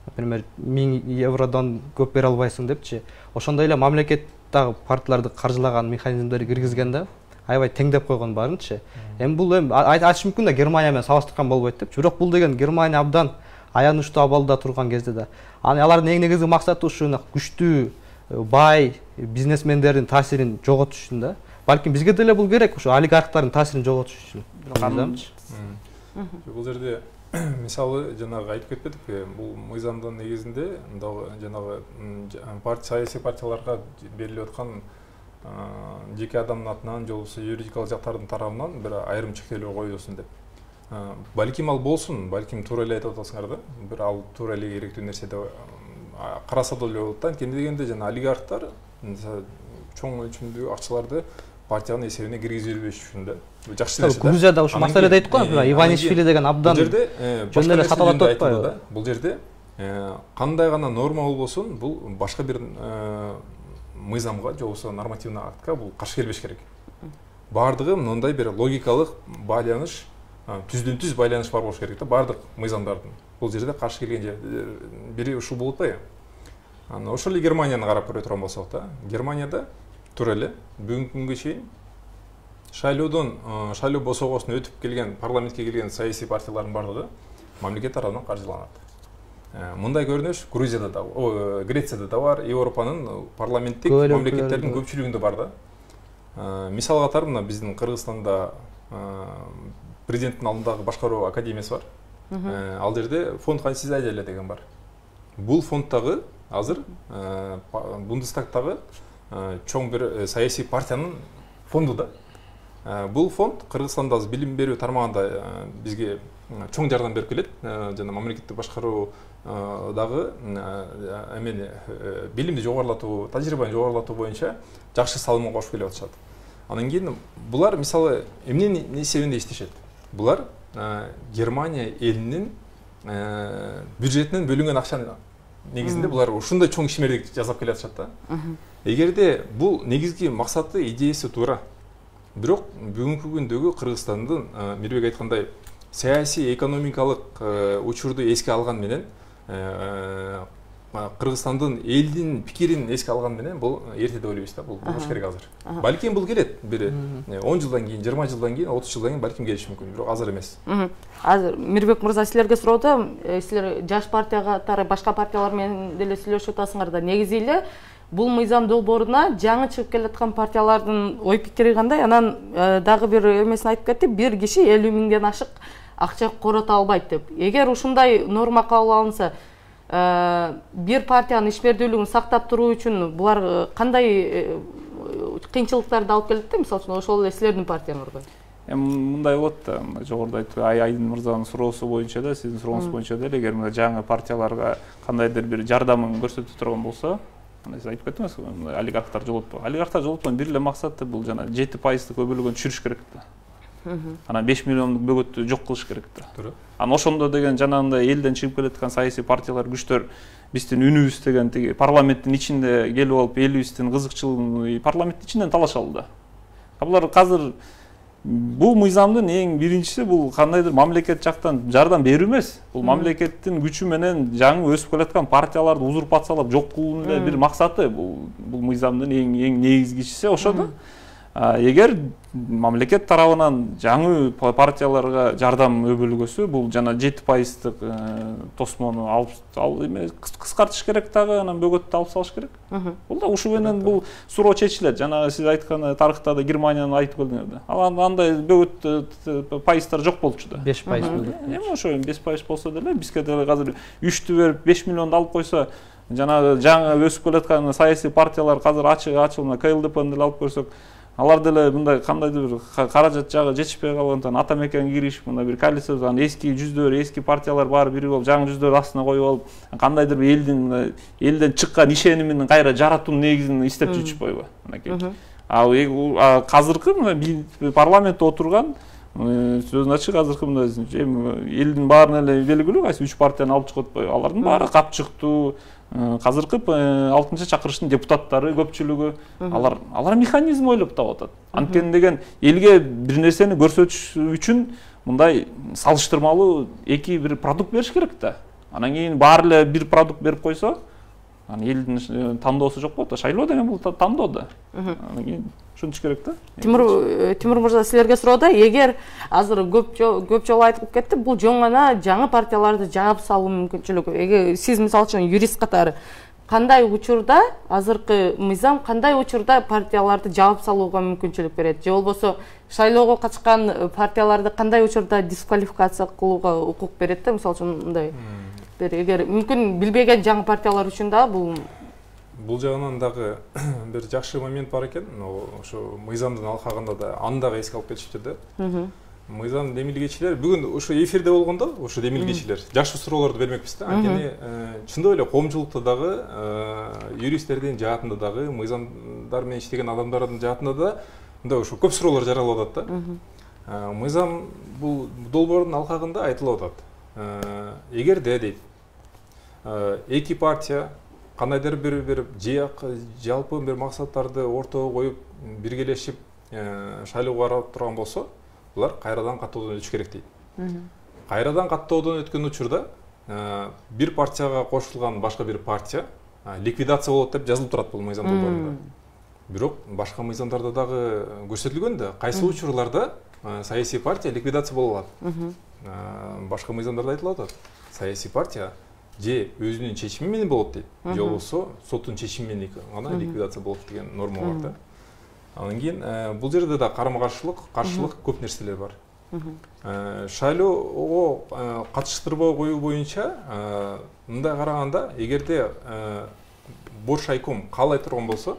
S1: Например, миң евродон көп бере албайсың депчи. Ошондой эле мамлекет дагы партияларды каржылаган механизмдерди киргизген да, аябай теңдеп койгон барынчы. Эми бул эми айтыш мүмкүн да Германия менен салыштырган болбойт депчи. Бирок бул деген Германия абдан аянычтуу абалда турган кезде да. Анан алардын эң негизги максаты ушу күчтүү бай бизнесмендердин таасирин жоготуш үчүн да. Балким бизге деле бул керек, ушу олигархтардын таасирин жоготуш үчүн.
S3: Бул жерде мисалы жанагы айтып кетпедикпи, бул мыйзамдын негизинде жанагы саясий партияларга берилип аткан жеке адамдын атынан же болбосо юридикалык жактардын тарабынан бир айрым чектөөлөр коюлсун деп. Балким ал болсун, балким туура эле айтып атасыңар да. Бир ал туура эле керектүү нерсе деп караса деле болот да. Анткени дегенде жана олигархтар чоң өлчөмдүү акчаларды партиянын эсебине киргизип бербеш үчүн да. Жакшы нерсе да.
S1: Грузияда ушу маселеде айттык го, Иванишвили деген абдан жөн эле сатып атпайбы?
S3: Бул жерде кандай гана норма болбосун, бул башка бир мыйзамга же болбосо нормативный актка бул каршы келбеш керек. Бардыгы мындай бир логикалык байланыш, түздөн түз байланыш бар болуш керек да бардык мыйзамдардын. Бул жерде каршы келген бири ушул болуп атпайбы? Анан ошол эле Германияны карап көрө турган болсок да, Германияда туура эле бүгүнкү күнгө чейин шайлоодон шайлоо босогосуна өтүп келген, парламентке келген саясий партиялардын бардыгы мамлекет тарабынан каржыланат. Мындай көрүнүш Грузияда да, Грецияда да бар, Европанын парламенттик мамлекеттердин көпчүлүгүндө бар да. Мисал катары мына биздин Кыргызстанда президенттин алдындагы башкаруу академиясы бар. Ал жерде фонд конституция деген бар. Бул фондтагы азыр Бундестагтагы чоң бир саясий партиянын фонду да. Бул фонд Кыргызстанда билим берүү тармагында бизге чоң жардам берип келет. Жана мамлекеттик башкаруу дагы эмени билимди жогорулатуу, тажрыйбаны жогорулатуу боюнча жакшы салымын кошуп келип атышат. Анан кийин булар мисалы эмненин эсебинде иштешет? Булар Германия элинин бюджетинен бөлүнгөн акчанын негизинде булар ушундай чоң ишмердик жасап келе атышат да. Эгерде бул негизги максаты, идеясы туура. Бирок бүгүнкү күндөгү Кыргызстандын Мирбек айткандай саясий экономикалык учурду эске алган менен Кыргызстандын элдин пикирин эске алган менен бул эрте деп ойлойбуз да, бул болуш керек азыр. Балким бул келет бир он жылдан кийин, жыйырма жылдан кийин, отуз жылдан кийин балким келиши мүмкүн, бирок азыр эмес.
S4: Азыр Мирбек мырза силерге суроодо, силер жаш партия катары башка партиялар менен деле сүйлөшүп атасыңар да, негизи эле бул мыйзам долбооруна жаңы чыгып келаткан партиялардын ой пикири кандай? Анан дагы бир эмесин айтып кетти, бир киши элүү миңден ашык акча корото албайт деп. Эгер ушундай норма кабыл алынса, бир партиянын ишмердүүлүгүн сактап туруу үчүн булар кандай кыйынчылыктарды алып келет да, мисалы үчүн ошол эле силердин партияңарга?
S2: Эми мындай болот да, жогоруда айткан Айдын мырзанын суроосу боюнча да, сиздин сурооңуз боюнча деле, эгер мындай жаңы партияларга кандайдыр бир жардамын көрсөтө турган болсо, сиз айтып кеттиңиз, олигархтар жолотпой. Олигархтар жолотпогон бир эле максаты бул жана жети пайыздык өбөлгөнү түшүрүш керек да. Анан беш миллиондук бөгөттү жок кылыш керек да. Туура. Анан ошондо деген жанагындай элден чыгып келаткан саясий партиялар, күчтөр биздин үнүбүз деген тиги парламенттин ичинде келип алып, элибиздин кызыкчылыгын парламенттин ичинен талашалы да. Булар азыр бул мыйзамдын эң биринчиси бул кандайдыр мамлекет жактан жардам берүү эмес. Бул мамлекеттин күчү менен жаңы өсүп келаткан партияларды узурпациялап жок кылуунун эле бир максаты. Бул бул мыйзамдын эң эң негизгичиси ошо да. Эгер мамлекет тарабынан жаңы партияларга жардам өбөлгөсү, бул жана жети пайыздык тосмону алып кыскартыш керек дагы, анан бөгөттү алып салыш керек. Бул да ушу менен бул суроо чечилет. Жана сиз айткан тарыхта да Германияны айтып келдиңер да. Ал андай бөгөт пайыздар жок болчу да.
S1: беш пайыз бөгөт.
S2: Эми ошо беш пайыз болсо деле бизге деле азыр үчтү берип беш миллионду алып койсо, жана жаңы өсүп келаткан саясий партиялар азыр ачык ачылма КЛДПны деле алып көрсөк, алар деле мындай кандайдыр бир каражат жагы жетишпей калгандыктан ата мекенге киришип, мындай бир коалициядагы эски жүздөр, эски партиялар баары бирип алып, жаңы жүздөр астына коюп алып, кандайдыр бир элдин элден чыккан ишенимин кайра жаратуу негизин издеп жүрүшпөйбү мынакей. А азыркы парламентте отурган сөзүн ачык, азыркы мындай элдин баарына эле белгилүү, кайсы үч партияны алып чыгып атпайбы? Алардын баары капчыктуу. Азыркы алтынчы чакырыштын депутаттары көпчүлүгү алар алар механизм ойлоп таап атат. Анткени деген элге бир нерсени көрсөтүш үчүн мындай салыштырмалуу эки бир продукт бериш керек да. Анан кийин баары эле бир продукт берип койсо, анан элдин тандоосу жок болот да. Шайлоо деген бул тандоо да. Анан кийин ушинтиш керек да.
S4: Тимур Тимур мырза, силерге суроо да, эгер азыр көп көп жолу айтылып кетти, бул жөн гана жаңы партияларды жаап салуу мүмкүнчүлүгү. Эгер сиз мисалы үчүн юрист катары кандай учурда азыркы мыйзам кандай учурда партияларды жаап салууга мүмкүнчүлүк берет, же болбосо шайлоого катышкан партияларды кандай учурда дисквалификация кылууга укук берет да, мисалы үчүн мындай бир эгер мүмкүн билбеген жаңы партиялар үчүн да бул
S3: Бул жагынан дагы бир жакшы момент бар экен. Ошо мыйзамдын алкагында да аны дагы эске алып кетишиптир да. Мыйзам демилгечилер бүгүн ошо эфирде болгондо, ошо демилгечилер жакшы суроолорду бермекпиз да. Анткени чындап эле коомчулукта дагы, юристтердин жаатында дагы, мыйзамдар менен иштеген адамдардын жаатында да мындай ошо көп суроолор жаралып атат да. Мыйзам бул долбоордун алкагында айтылып атат. Эгерде дейт, эки партия кандайдыр бир бир жалпы бир максаттарды ортого коюп биргелешип шайлоого барып турган болсо, булар кайрадан каттоодон өтүш керек дейт. Кайрадан каттоодон өткөн учурда бир партияга кошулган башка бир партия ликвидация болот деп жазылып турат бул мыйзам долбоорунда. Бирок башка мыйзамдарда дагы көрсөтүлгөн да, кайсы учурларда саясий партия ликвидация боло алат. Башка мыйзамдарда айтылып атат. Саясий партия же өзүнүн чечими менен болот дейт, же болбосо соттун чечими менен гана ликвидация болот деген норма бар да. Анан кийин бул жерде да карама-каршылык, каршылык көп нерселер бар. Шайлоого катыштырбоо коюу боюнча мындай караганда, эгерде бош айком каалай турган болсо,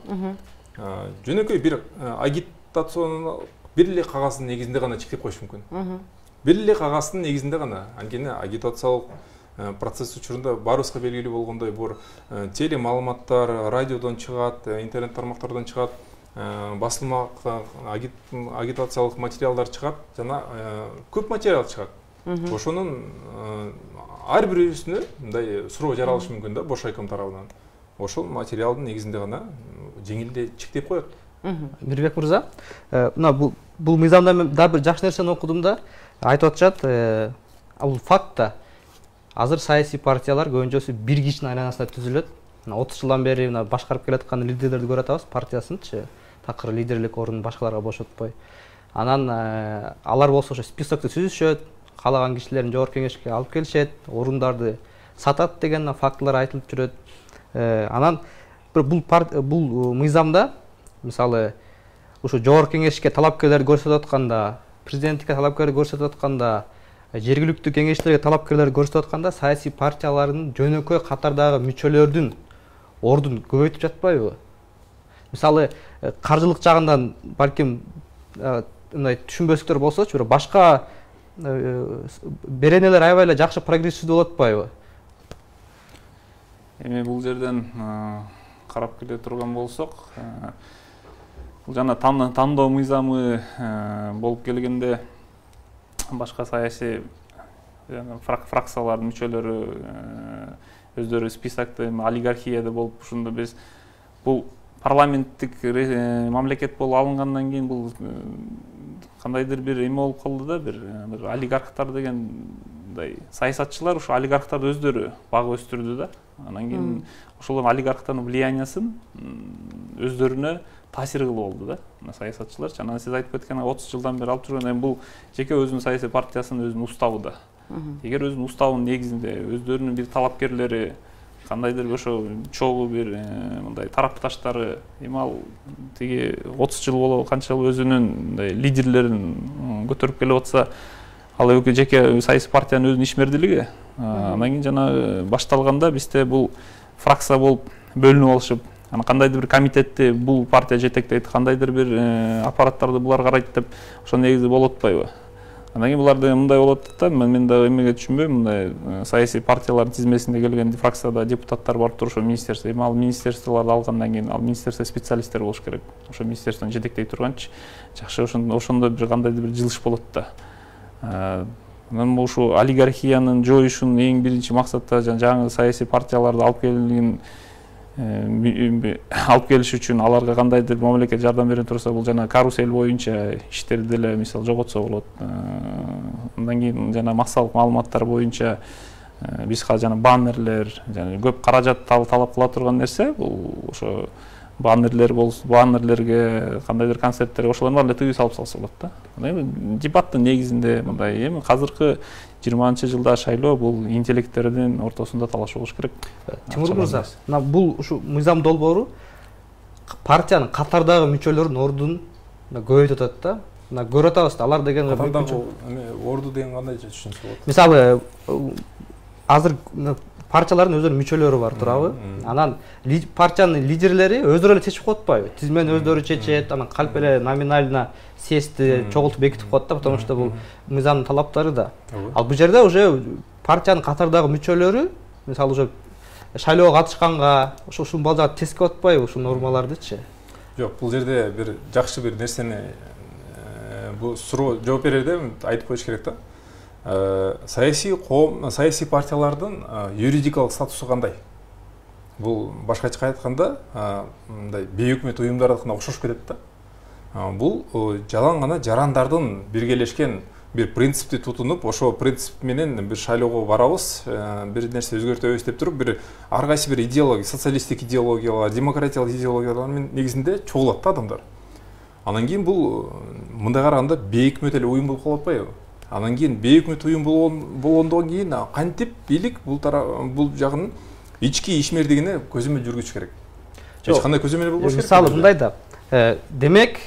S3: жөнөкөй бир агитациянын бир эле кагаздын негизинде гана чектеп коюш мүмкүн. Бир эле кагаздын негизинде гана. Анткени агитациялык процесс учурунда баарыбызга белгилүү болгондой, бул теле маалыматтар радиодон чыгат, интернет тармактардан чыгат, басылма агитациялык материалдар чыгат, жана көп материал чыгат. Ошонун ар бирөөсүнө мындай суроо жаралышы мүмкүн да бош айком тарабынан. Ошол материалдын негизинде гана жеңилдей чектеп коет.
S1: Мирбек мырза, мына бул бул мыйзамда мен дагы бир жакшы нерсени окудум да, айтып атышат, бул факт да. Азыр саясий партиялар көбүнчөсү бир кишинин айланасында түзүлөт. отуз жылдан бери башкарып келаткан лидерлерди көрүп атабыз, партиясынчы такыр лидерлик ордун башкаларга бошотпой. Анан алар болсо ошо списокты түзүшөт, каалаган кишилерин жогорку кеңешке алып келишет, орундарды сатат деген фактылар айтылып жүрөт. Анан бул бул мыйзамда мисалы ушу жогорку кеңешке талапкерлерди көрсөтүп атканда, президенттикке талапкерлерди көрсөтүп атканда, жергиликтүү кеңештерге талапкерлер көрсөтүп атканда саясий партиялардын жөнөкөй катардагы мүчөлөрдүн ордун көбөйтүп жатпайбы? Мисалы, каржылык жагынан балким мындай түшүнбөстүктөр болсочу, бирок башка беренелер аябай эле жакшы прогрессивдүү болуп атпайбы?
S2: Эми бул жерден карап келе турган болсок, бул жана тандоо мыйзамы болуп келгенде башка саясий фракциялардын мүчөлөрү өздөрү списокто олигархияда болуп, ушунда биз бул парламенттик мамлекет болуп алынгандан кийин бул кандайдыр бир эме болуп калды да, бир бир олигархтар деген мындай саясатчылар ушу олигархтарды өздөрү багып өстүрдү да. Анан кийин ошол олигархтардын влияниясын өздөрүнө таасир кылып алды да саясатчылар. Анан сиз айтып кеткен отуз жылдан бери алып жүргөн, эми бул жеке өзүнүн саясий партиясынын өзүнүн уставы да. Эгер өзүнүн уставынын негизинде өздөрүнүн бир талапкерлери, кандайдыр ошо чогуу бир мындай тарапташтары, эми ал тиги отуз жыл болобу канча жыл өзүнүн мындай лидерлерин көтөрүп келип атса, ал жеке саясий партиянын өзүнүн ишмердилиги. Анан кийин жана башталганда бизде бул фракция болуп бөлүнүп алышып, анан кандайдыр бир комитетти бул партия жетектейт, кандайдыр бир аппараттарды булар карайт деп ошо негизи болуп атпайбы? Анан кийин буларда мындай болот да, мен дагы эмеге түшүнбөйм, мындай саясий партиялардын тизмесинде келген фракцияда депутаттар барып туруп ошо министерство, эми ал министерстволорду алгандан кийин ал министерство специалисттер болуш керек. Ошо министерствону жетектей турганчы жакшы ошондо бир кандайдыр бир жылыш болот да. Анан ушу олигархиянын жоюшунун эң биринчи максаты жаңы саясий партияларды алып келген алып келиш үчүн аларга кандайдыр мамлекет жардам бере турса, бул жана карусель боюнча иштерди деле мисал жоготсо болот. Андан кийин жана максалык маалыматтар боюнча биз жана баннерлер, жана көп каражат талап кыла турган нерсе, бул ошо баннерлер болсо, баннерлерге кандайдыр концерттерге ошолордун баарын тыгыз салып салса болот да. Эми дебаттын негизинде мындай, эми азыркы жыйырманчы жылда шайлоо бул интеллекттердин ортосунда талаш болуш керек.
S1: Тимур мырза, мына бул ушу мыйзам долбоору партиянын катардагы мүчөлөрүнүн ордун көбөйтүп атат да. Мына көрүп атабыз, алар деген
S3: катардагы орду деген кандайча түшүнсө болот?
S1: Мисалы, азыр партиялардын өздөрүнүн мүчөлөрү бар турабы? Анан партиянын лидерлери өздөрү эле чечип коет атпайбы? Тизмени өздөрү чечет, анан калп эле номинально съездди чогултуп бекитип коет да, потому что бул мыйзамдын талаптары да. Ал бул жерде уже партиянын катардагы мүчөлөрү, мисалы уже шайлоого катышканга, ошо ушул балдарды тескеп атпайбы ушул нормалардычы?
S3: Жок, бул жерде бир жакшы бир нерсени бул суроо жооп берерде айтып коюш керек да. Саясий коом, саясий партиялардын юридикалык статусу кандай? Бул башкача айтканда, мындай бейөкмөт уюмдардыкына окшош кетет да. Бул жалаң гана жарандардын биргелешкен бир принципти тутунуп, ошо принцип менен бир шайлоого барабыз, бир нерсе өзгөртөбүз деп туруп, бир ар кайсы бир идеология, социалисттик идеологиялар, демократиялык идеологиялар негизинде чогулат да адамдар. Анан кийин бул мындай караганда бейөкмөт эле уюм болуп калып атпайбы? Анан кийин бейөкмөт уюм болгондон кийин кантип бийлик бул бул жагынын ички ишмердигине көзөмөл жүргүзүш керек? Эч кандай көзөмөл болбош керек.
S1: Мисалы мындай да, демек,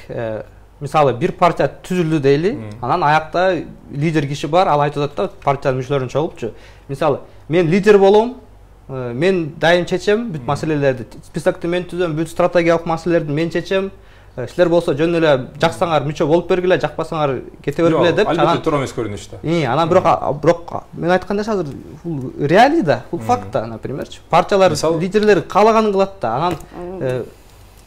S1: мисалы бир партия түзүлдү дейли, анан аякта лидер киши бар, ал айтып атат да, партиянын мүчөлөрүн чогултчу. Мисалы, мен лидер болом, мен дайым чечем бүт маселелерди, списокты мен түзөм, бүт стратегиялык маселелерди мен чечем. Силер болсо жөн эле жаксаңар мүчө болуп бергиле, жакпасаңар кете бергиле деп.
S3: Албетте туура эмес көрүнүш да.
S1: И, анан бирок бирок мен айткан нерсе азыр бул реалий да, бул факт да, напримерчи. Партиялар лидерлери каалаганын кылат да, анан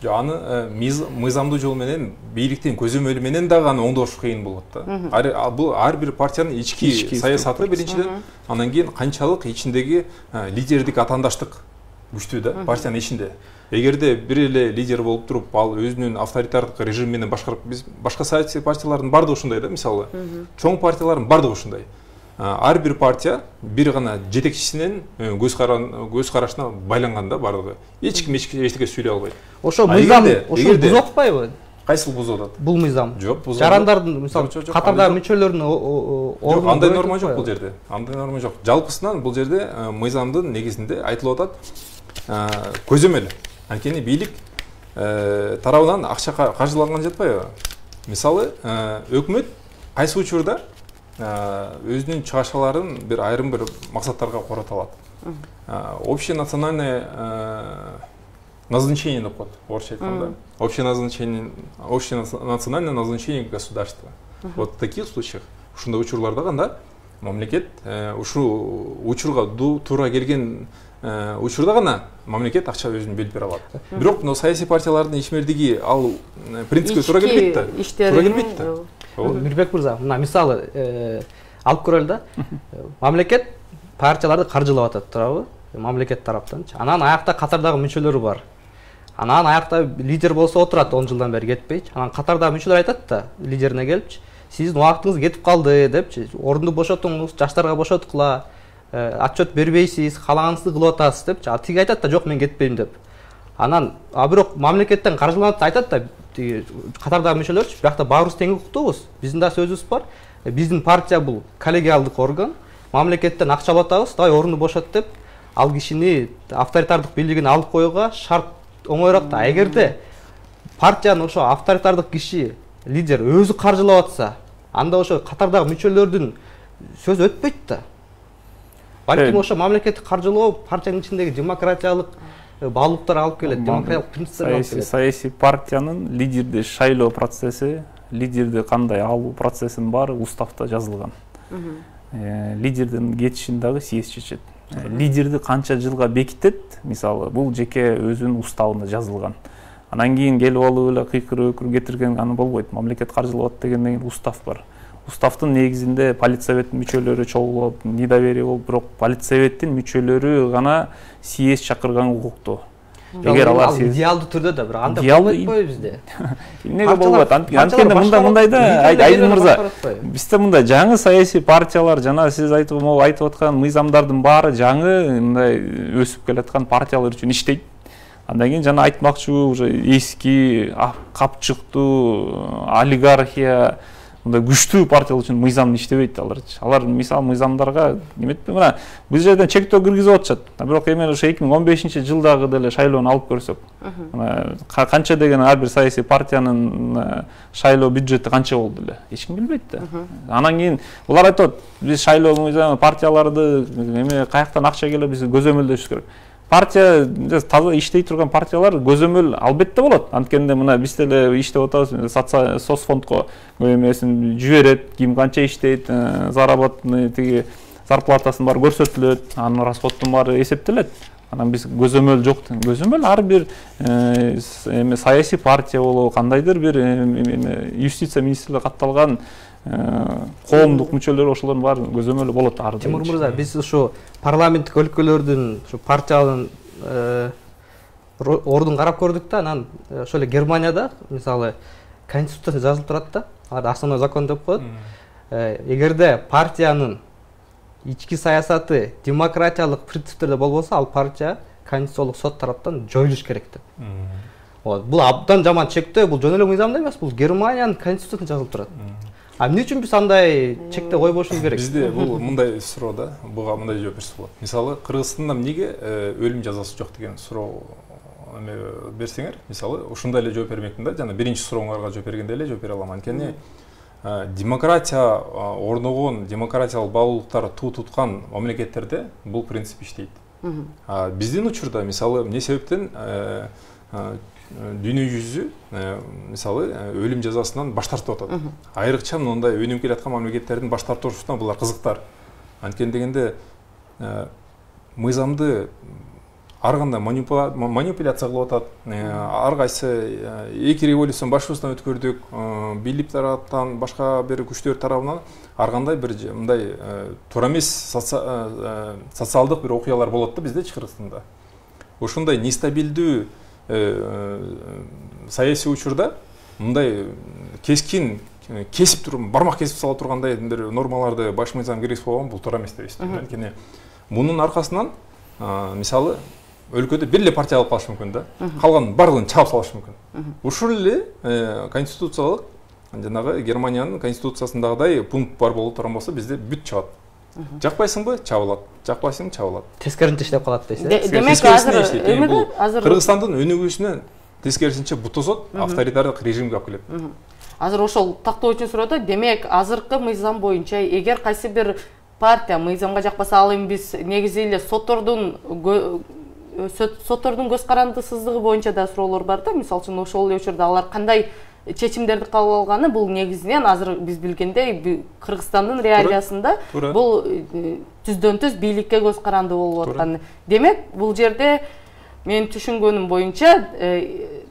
S3: жок, аны мыйзамдуу жол менен бийликтин көзөмөлү менен дагы аны оңдош кыйын болот да. Бул ар бир партиянын ички саясаты биринчиден, анан кийин канчалык ичиндеги лидердик атаандаштык күчтүү да партиянын ичинде. Эгерде бир эле лидер болуп туруп, ал өзүнүн авторитардык режим менен башкарып, биз башка саясий партиялардын бардыгы ушундай да, мисалы. Чоң партиялардын бардыгы ушундай. Ар бир партия бир гана жетекчисинин көз карашына байланган да бардыгы. Эч ким эчтеке сүйлөй албайт.
S1: Ошо мыйзам ошо бузуп атпайбы?
S3: Кайсыл бузуп атат?
S1: Бул мыйзам.
S3: Жок, бузуп.
S1: Жарандардын, мисалы, катардагы мүчөлөрүнүн ордун.
S3: Андай норма жок бул жерде. Андай норма жок. Жалпысынан бул жерде мыйзамдын негизинде айтылып атат көзөмөл. Анткени бийлик тарабынан акча каржыланган жатпайбы? Мисалы, өкмөт кайсы учурда өзүнүн чыгашаларын бир айрым бир максаттарга корото алат. Общенациональное назначение деп коет, орусча айтканда. Общенациональное общенациональное назначение государства. Вот в таких случаях, ушундай учурларда гана мамлекет ушул учурга туура келген учурда гана мамлекет акча өзүн белип бере алат. Бирок мына саясий партиялардын ишмердиги ал принципке туура келбейт да. Туура келбейт да.
S1: Мирбек мырза, мына мисалы алып көрөлү да. Мамлекет партияларды каржылап атат, туурабы? Мамлекет тараптанчы. Анан аякта катардагы мүчөлөрү бар. Анан аякта лидер болсо отурат, он жылдан бери кетпейчи. Анан катардагы мүчөлөр айтат да, лидерине келипчи, сиздин убактыңыз кетип калды депчи, орунду бошотуңуз, жаштарга бошоткула, отчет бербейсиз, каалаганыңызды кылып атасыз депчи. А тиги айтат да, жок мен кетпейм деп. Анан, а бирок мамлекеттен каржыланат айтат да, тиги катардагы мүчөлөрчү, биякта баарыбыз тең укуктуубуз. Биздин да сөзүбүз бар. Биздин партия бул коллегиалдык орган. Мамлекеттен акча алып атабыз, давай орунду бошот деп, ал кишини авторитардык бийлигин алып коюуга шарт оңоюраак да. Эгерде партиянын ошо авторитардык киши, лидер өзү каржылап атса, анда ошо катардагы мүчөлөрдүн сөзү өтпөйт да. Балким ошо мамлекеттик каржылоо партиянын ичиндеги демократиялык баалуулуктар алып келет, демократиялык принциптерге алып келет.
S2: Саясий партиянын лидерди шайлоо процесси, лидерди кандай алуу процессинин баары уставда жазылган. Лидердин кетишин дагы съезд чечет. Лидерди канча жылга бекитет, мисалы, бул жеке өзүнүн уставында жазылган. Анан кийин келип алып эле кыйкыр өкүр кетирген аны болбойт. Мамлекет каржылап атат дегенден кийин устав бар. Уставдын негизинде политсоветтин мүчөлөрү чогулуп, недоверие болуп, бирок политсоветтин мүчөлөрү гана съезд чакырганга укуктуу.
S1: Эгер алар идеалдуу түрдө да, бирок анда болбойт бизде.
S2: Эмнеге болбойт? Анткени мында мындайда Айдын мырза, бизде мында жаңы саясий партиялар, жана сиз айтып айтып аткан мыйзамдардын баары жаңы мындай өсүп келаткан партиялар үчүн иштейт. Андан кийин жана айтмакчыбы, уже эски, капчыктуу, олигархия мындай күчтүү партиялар үчүн мыйзам иштебейт аларчы. Алар мисалы мыйзамдарга неметпи, мына биз жерден чектөө киргизип атышат. Бирок эми ошо эки миң он бешинчи жылдагы деле шайлоону алып көрсөк, мына канча деген ар бир саясий партиянын шайлоо бюджети канча болду эле? Эч ким билбейт да. Анан кийин булар айтат, биз шайлоо мыйзам партияларды эме каяктан акча келет, биз көзөмөлдөшүбүз керек. Партия таза иштей турган партиялар көзөмөл албетте болот. Анткенде мына биз деле иштеп атабыз, соцфондко эмесин жиберет, ким канча иштейт, заработный тиги зарплатасын бар көрсөтүлөт, анын расходтун баары эсептелет. Анан биз көзөмөл жок. Көзөмөл ар бир эме саясий партия болобу, кандайдыр бир юстиция министрлиги катталган коомдук мүчөлөр ошолордун баары көзөмөлү болот.
S1: Тимур мырза, биз ушу парламенттик өлкөлөрдүн ушу партиянын ордун карап көрдүк да, анан ошо эле Германияда мисалы конституцияда жазылып турат да, алар основной закон деп коет. Эгерде партиянын ички саясаты демократиялык принциптерде болбосо, ал партия конституциялык сот тараптан жоюлуш керек деп. Вот, бул абдан жаман чектөө, бул жөн эле мыйзамда эмес, бул Германиянын конституциясында жазылып турат. А эмне үчүн биз андай чекте койбошубуз керек?
S3: Бизде бул мындай суроо да, буга мындай жооп берсе болот. Мисалы, Кыргызстанда эмнеге өлүм жазасы жок деген суроо эме берсеңер, мисалы, ушундай эле жооп бермекмин да, жана биринчи сурооңарга жооп бергенде эле жооп бере алам. Анткени демократия орногон, демократиялык баалуулуктар туу туткан мамлекеттерде бул принцип иштейт. Биздин учурда, мисалы, эмне себептен дүйнө жүзү мисалы өлүм жазасынан баш тартып атат. Айрыкча мындай өнүгүп келаткан мамлекеттердин баш тартуусуна булар кызыктар. Анткени дегенде мыйзамды ар кандай манипуляция кылып атат. Ар кайсы эки революциянын башыбыздан өткөрдүк, бийлик тараптан, башка бир күчтөр тарабынан ар кандай бир мындай туура эмес социалдык бир окуялар болот да бизде Кыргызстанда. Ошондой нестабилдүү саясий учурда мындай кескин кесип туруп, бармак кесип сала тургандай бир нормаларды баш мыйзам киргизип койгон бул туура эмес деп эсептейм. Анткени мунун аркасынан мисалы өлкөдө бир эле партия алып калышы мүмкүн да, калган барлыгын чаап салышы мүмкүн. Ушул эле конституциялык жанагы Германиянын конституциясындагыдай пункт бар боло турган болсо бизде бүт чыгат. Жакпайсыңбы? Чабылат. Жакпайсың, чабылат.
S1: Тескерисинче иштеп калат дейсиз.
S4: Демек азыр
S3: азыр Кыргызстандын өнүгүүсүнө тескерисинче бутозот авторитардык режимге алып келет.
S4: азыр ошол тактоо үчүн суроо да. Демек азыркы мыйзам боюнча эгер кайсы бир партия мыйзамга жакпаса, ал эми биз негизи эле соттордун соттордун көз карандысыздыгы боюнча да суроолор бар да. Мисалы үчүн ошол эле учурда алар кандай чечимдерди кабыл алганы, бул негизинен азыр биз билгендей Кыргызстандын реалиясында бул түздөн түз бийликке көз каранды болуп аткан. Демек бул жерде менин түшүнгөнүм боюнча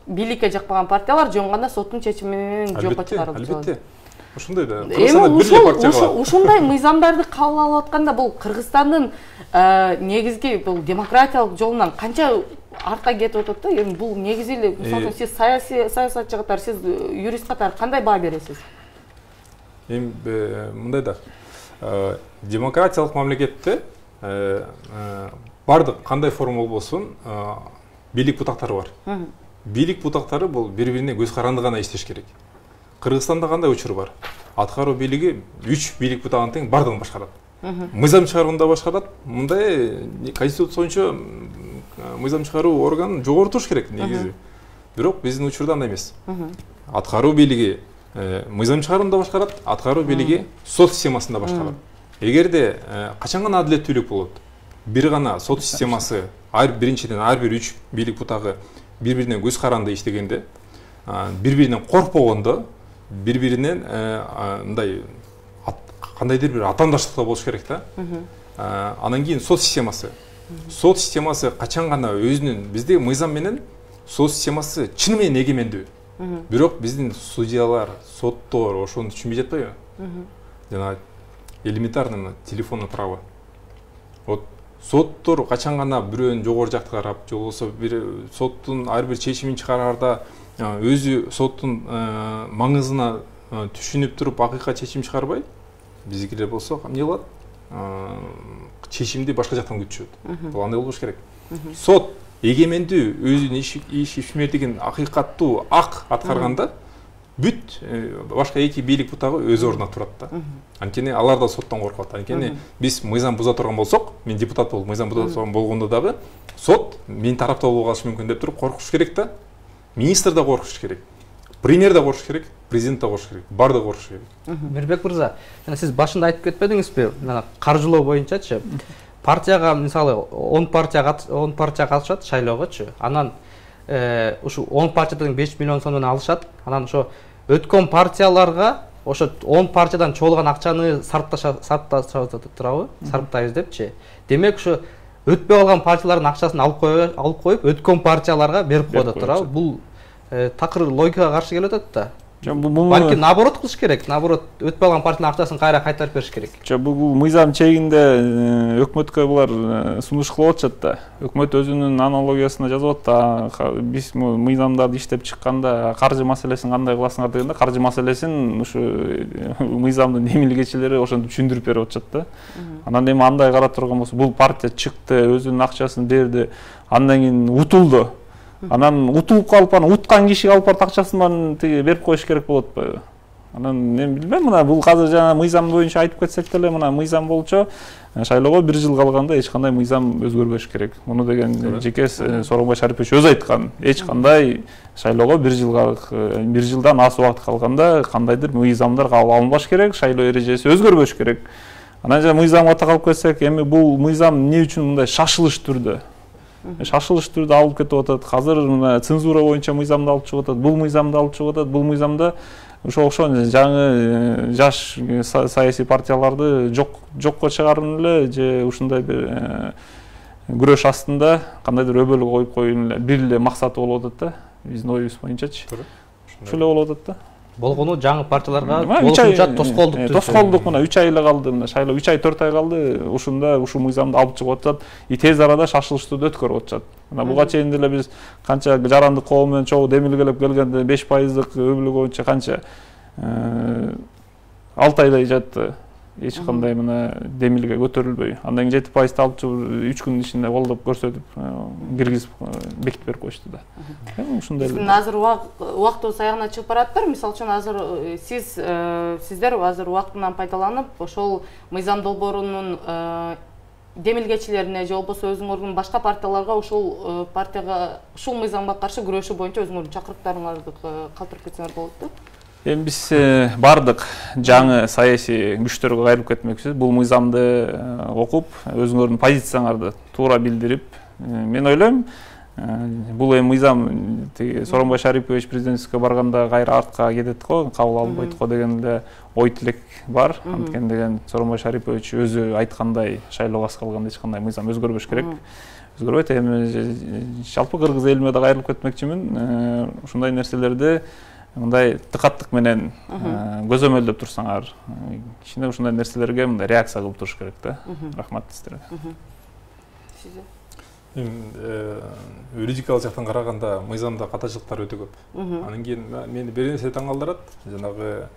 S4: бийликке жакпаган партиялар жөн гана соттун чечими менен жокко чыгарылып жатат.
S3: Албетте. Ошондой да.
S4: Эми ушундай мыйзамдарды кабыл алып атканда бул Кыргызстандын негизги бул демократиялык жолунан канча артка кетип атат да. Эми бул негизи эле мисалы сиз саясий саясатчы катары, сиз юрист катары кандай баа бересиз?
S3: Эми мындай да. Демократиялык мамлекетте бардык кандай форма болбосун бийлик бутактары бар. Бийлик бутактары бул бири-бирине көз каранды гана иштеш керек. Кыргызстанда кандай учур бар? Аткаруу бийлиги үч бийлик бутагын тең бардыгын башкарат. Мыйзам чыгарууда башкарат. Мындай конституция боюнча мыйзам чыгаруу органын жогору туруш керек негизи. Бирок биздин учурда андай эмес. Аткаруу бийлиги мыйзам чыгарууда башкарат, аткаруу бийлиги сот системасында башкарат. Эгерде качан гана адилеттүүлүк болот, бир гана сот системасы, ар биринчиден ар бир үч бийлик бутагы бири-бирине көз каранды иштегенде, бири-биринен коркпогондо, бири-биринен мындай кандайдыр бир атаандаштыкта болуш керек да. Анан кийин сот системасы. Сот системасы качан гана өзүнүн бизде мыйзам менен сот системасы чын менен эгемендүү. Бирок биздин судьялар, соттор ошону түшүнбөй жатпайбы? Жана элементарный телефонный право. Вот соттор качан гана бирөөнүн жогору жакты карап, же болбосо бир соттун ар бир чечимин чыгараарда өзү соттун маңызына түшүнүп туруп акыйкат чечим чыгарбай, биздикилер болсо эмне кылат? Чечимди башка жактан күтүшөт. Бул андай болбош керек. Сот эгемендүү өзүнүн иш ишмердигин акыйкаттуу ак аткарганда бүт башка эки бийлик бутагы өз ордуна турат да. Анткени алар да соттон коркот. Анткени биз мыйзам буза турган болсок, мен депутат болуп мыйзам буза турган болгондо дагы сот менин тарапта болуп калышы мүмкүн деп туруп коркуш керек да. Министр да коркуш керек. Премьер да коркуш керек, президент да коркуш керек. Бардыгы коркуш керек.
S1: Мирбек мырза, жана сиз башында айтып кетпедиңизби? Мына каржылоо боюнчачы партияга мисалы он партия он партия катышат шайлоогочу. Анан ушу он партиядан беш миллион сомдон алышат. Анан ошо өткөн партияларга ошо он партиядан чогулган акчаны сарпташат турабы? Сарптайбыз депчи. Демек ошо өтпөй калган партиялардын акчасын алып коюп, алып коюп өткөн партияларга берип коет турабы? Бул такыр логикага каршы келип атат да. Балки наоборот кылыш керек. Наоборот, өтпөй калган партиянын акчасын кайра кайтарып бериш керек.
S2: Бул мыйзам чегинде өкмөткө булар сунуш кылып атышат да. Өкмөт өзүнүн аналогиясына жазып атат. Биз мыйзамдарды иштеп чыкканда каржы маселесин кандай кыласыңар дегенде, каржы маселесин ушу мыйзамдын эмилгечилери ошентип түшүндүрүп берип атышат да. Анан эми андай карап турган болсо, бул партия чыкты, өзүнүн акчасын берди, андан кийин утулду. Анан утулуп калып, анан уткан кишиге алып барып акчасын тиги берип коюш керек болот атпайбы? Анан мен билбейм, мына бул азыр жана мыйзам боюнча айтып кетсек деле, мына мыйзам болчу шайлоого бир жыл калганда эч кандай мыйзам өзгөрбөш керек. Муну деген жеке Сооронбай Шарипович өзү айткан. Эч кандай шайлоого бир жыл бир жылдан аз убакыт калганда кандайдыр мыйзамдар кабыл алынбаш керек, шайлоо эрежеси өзгөрбөш керек. Анан жана мыйзамга такалып кетсек, эми бул мыйзам эмне үчүн мындай шашылыш түрдө шашылыш түрдө алып кетип атат. Азыр мына цензура боюнча мыйзамды алып чыгып атат, бул мыйзамды алып чыгып атат. Бул мыйзамда ошо окшон жаңы жаш саясий партияларды жок жокко чыгарып эле же ушундай бир күрөш астында кандайдыр өбөлгө коюп коюун эле бир эле максаты болуп атат да. Биздин оюбуз боюнчачы. Ошол эле болуп атат да.
S1: Болгону жаңы партияларга болушунча тоскоолдук
S2: тоскоолдук мына үч ай эле калды, мына шайлоо үч ай төрт ай калды, ушунда ушу мыйзамды алып чыгып атышат, и тез арада шашылышты өткөрүп атышат. Мына буга чейин деле биз канча жарандык коом менен чогуу демилгелеп келгенде беш пайыздык өбөлгө боюнча канча алты айдай жатты. Эч кандай мына демилге көтөрүлбөй. Андан кийин жети пайызды алып чыгып үч күн ичинде колдоп көрсөтүп киргизип бекитип берип коюшту да. Ушундай эле.
S4: Азыр убактыбыз аягына чыгып бараттыр. Мисалы үчүн азыр сиз сиздер азыр убактынан пайдаланып, ошол мыйзам долбоорунун демилгечилерине же болбосо өзүңөрдүн башка партияларга ушул партияга ушул мыйзамга каршы күрөшүү боюнча өзүңөрдүн чакырыктарыңарды калтырып кетсеңер болот да.
S2: Эми биз бардык жаңы саясий күчтөргө кайрылып кетмекчибиз. Бул мыйзамды окуп, өзүңөрдүн позицияларды туура билдирип, мен ойлойм, бул эми мыйзам Сооронбай Шарипович президентскке барганда кайра артка кетет го, кабыл алынбайт го деген эле ой тилек бар. Анткени деген Сооронбай Шарипович өзү айткандай шайлоого аз калганда эч кандай мыйзам өзгөрбөш керек. Өзгөрбөйт. Эми жалпы кыргыз элиме да кайрылып кетмекчимин. Ушундай нерселерди мындай тыкаттык менен көзөмөлдөп турсаңар, кичине ушундай нерселерге мындай реакция кылып туруш керек да. Рахмат сиздерге.
S3: Юридикалык жактан караганда мыйзамда катачылыктар өтө көп. Анан кийин мени бир нерсе таң калтырат. Жанагы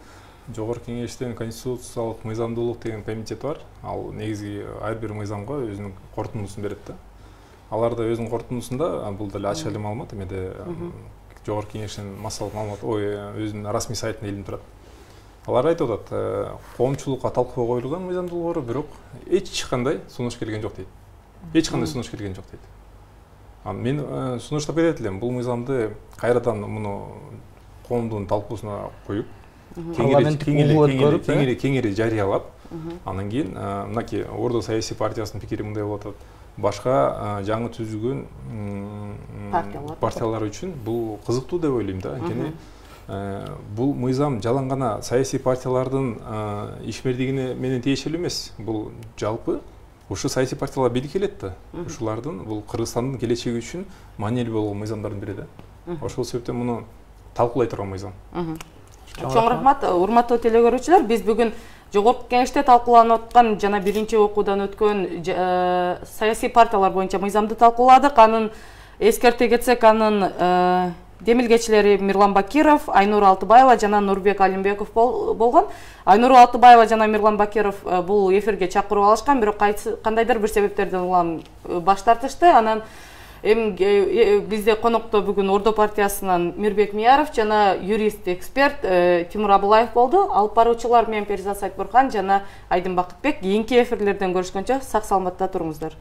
S3: Жогорку Кеңештин конституциялык мыйзамдуулук деген комитет бар. Ал негизги ар бир мыйзамга өзүнүн корутундусун берет да. Алар да өзүнүн корутундусунда, бул деле ачык эле маалымат, эмеде Жогорку Кеңештин массалык маалымат, ой, өзүнүн расмий сайтында илинип турат. Алар айтып атат, коомчулукка талкууга коюлган мыйзам долбоору, бирок эч кандай сунуш келген жок дейт. Эч кандай сунуш келген жок дейт. Мен сунуштап кетет элем, бул мыйзамды кайрадан муну коомдун талкуусуна коюп, кеңири кеңири жарыялап, анан кийин мынакей Ордо саясий партиясынын пикири мындай болуп атат. Башка жаңы түзүлгөн партиялар үчүн бул кызыктуу деп ойлойм да. Анткени бул мыйзам жалаң гана саясий партиялардын ишмердигине менен тиешелүү эмес. Бул жалпы ушу саясий партиялар бийликке келет да. Ушулардын бул Кыргызстандын келечеги үчүн маанилүү болгон мыйзамдардын бири да. Ошол себептен муну талкуулай турган мыйзам.
S4: Чоң рахмат, урматтуу телекөрүүчүлөр. Биз бүгүн Жогорку Кеңеште талкууланып аткан жана биринчи окуудан өткөн саясий партиялар боюнча мыйзамды талкууладык. Анын эскерте кетсек, анын демилгечилери Мирлан Бакиров, Айнур Алтыбаева жана Нурбек Алимбеков болгон. Айнур Алтыбаева жана Мирлан Бакиров бул эфирге чакырып алышкан, бирок кандайдыр бир себептерден улам баш тартышты. Анан эми бизде конокто бүгүн Ордо партиясынан Мирбек Мияров жана юрист эксперт Тимур Абылаев болду. Алып баруучулар мен Перизат Сайтбурхан жана Айдын Бакытбек. Кийинки эфирлерден көрүшкөнчө сак саламатта туруңуздар.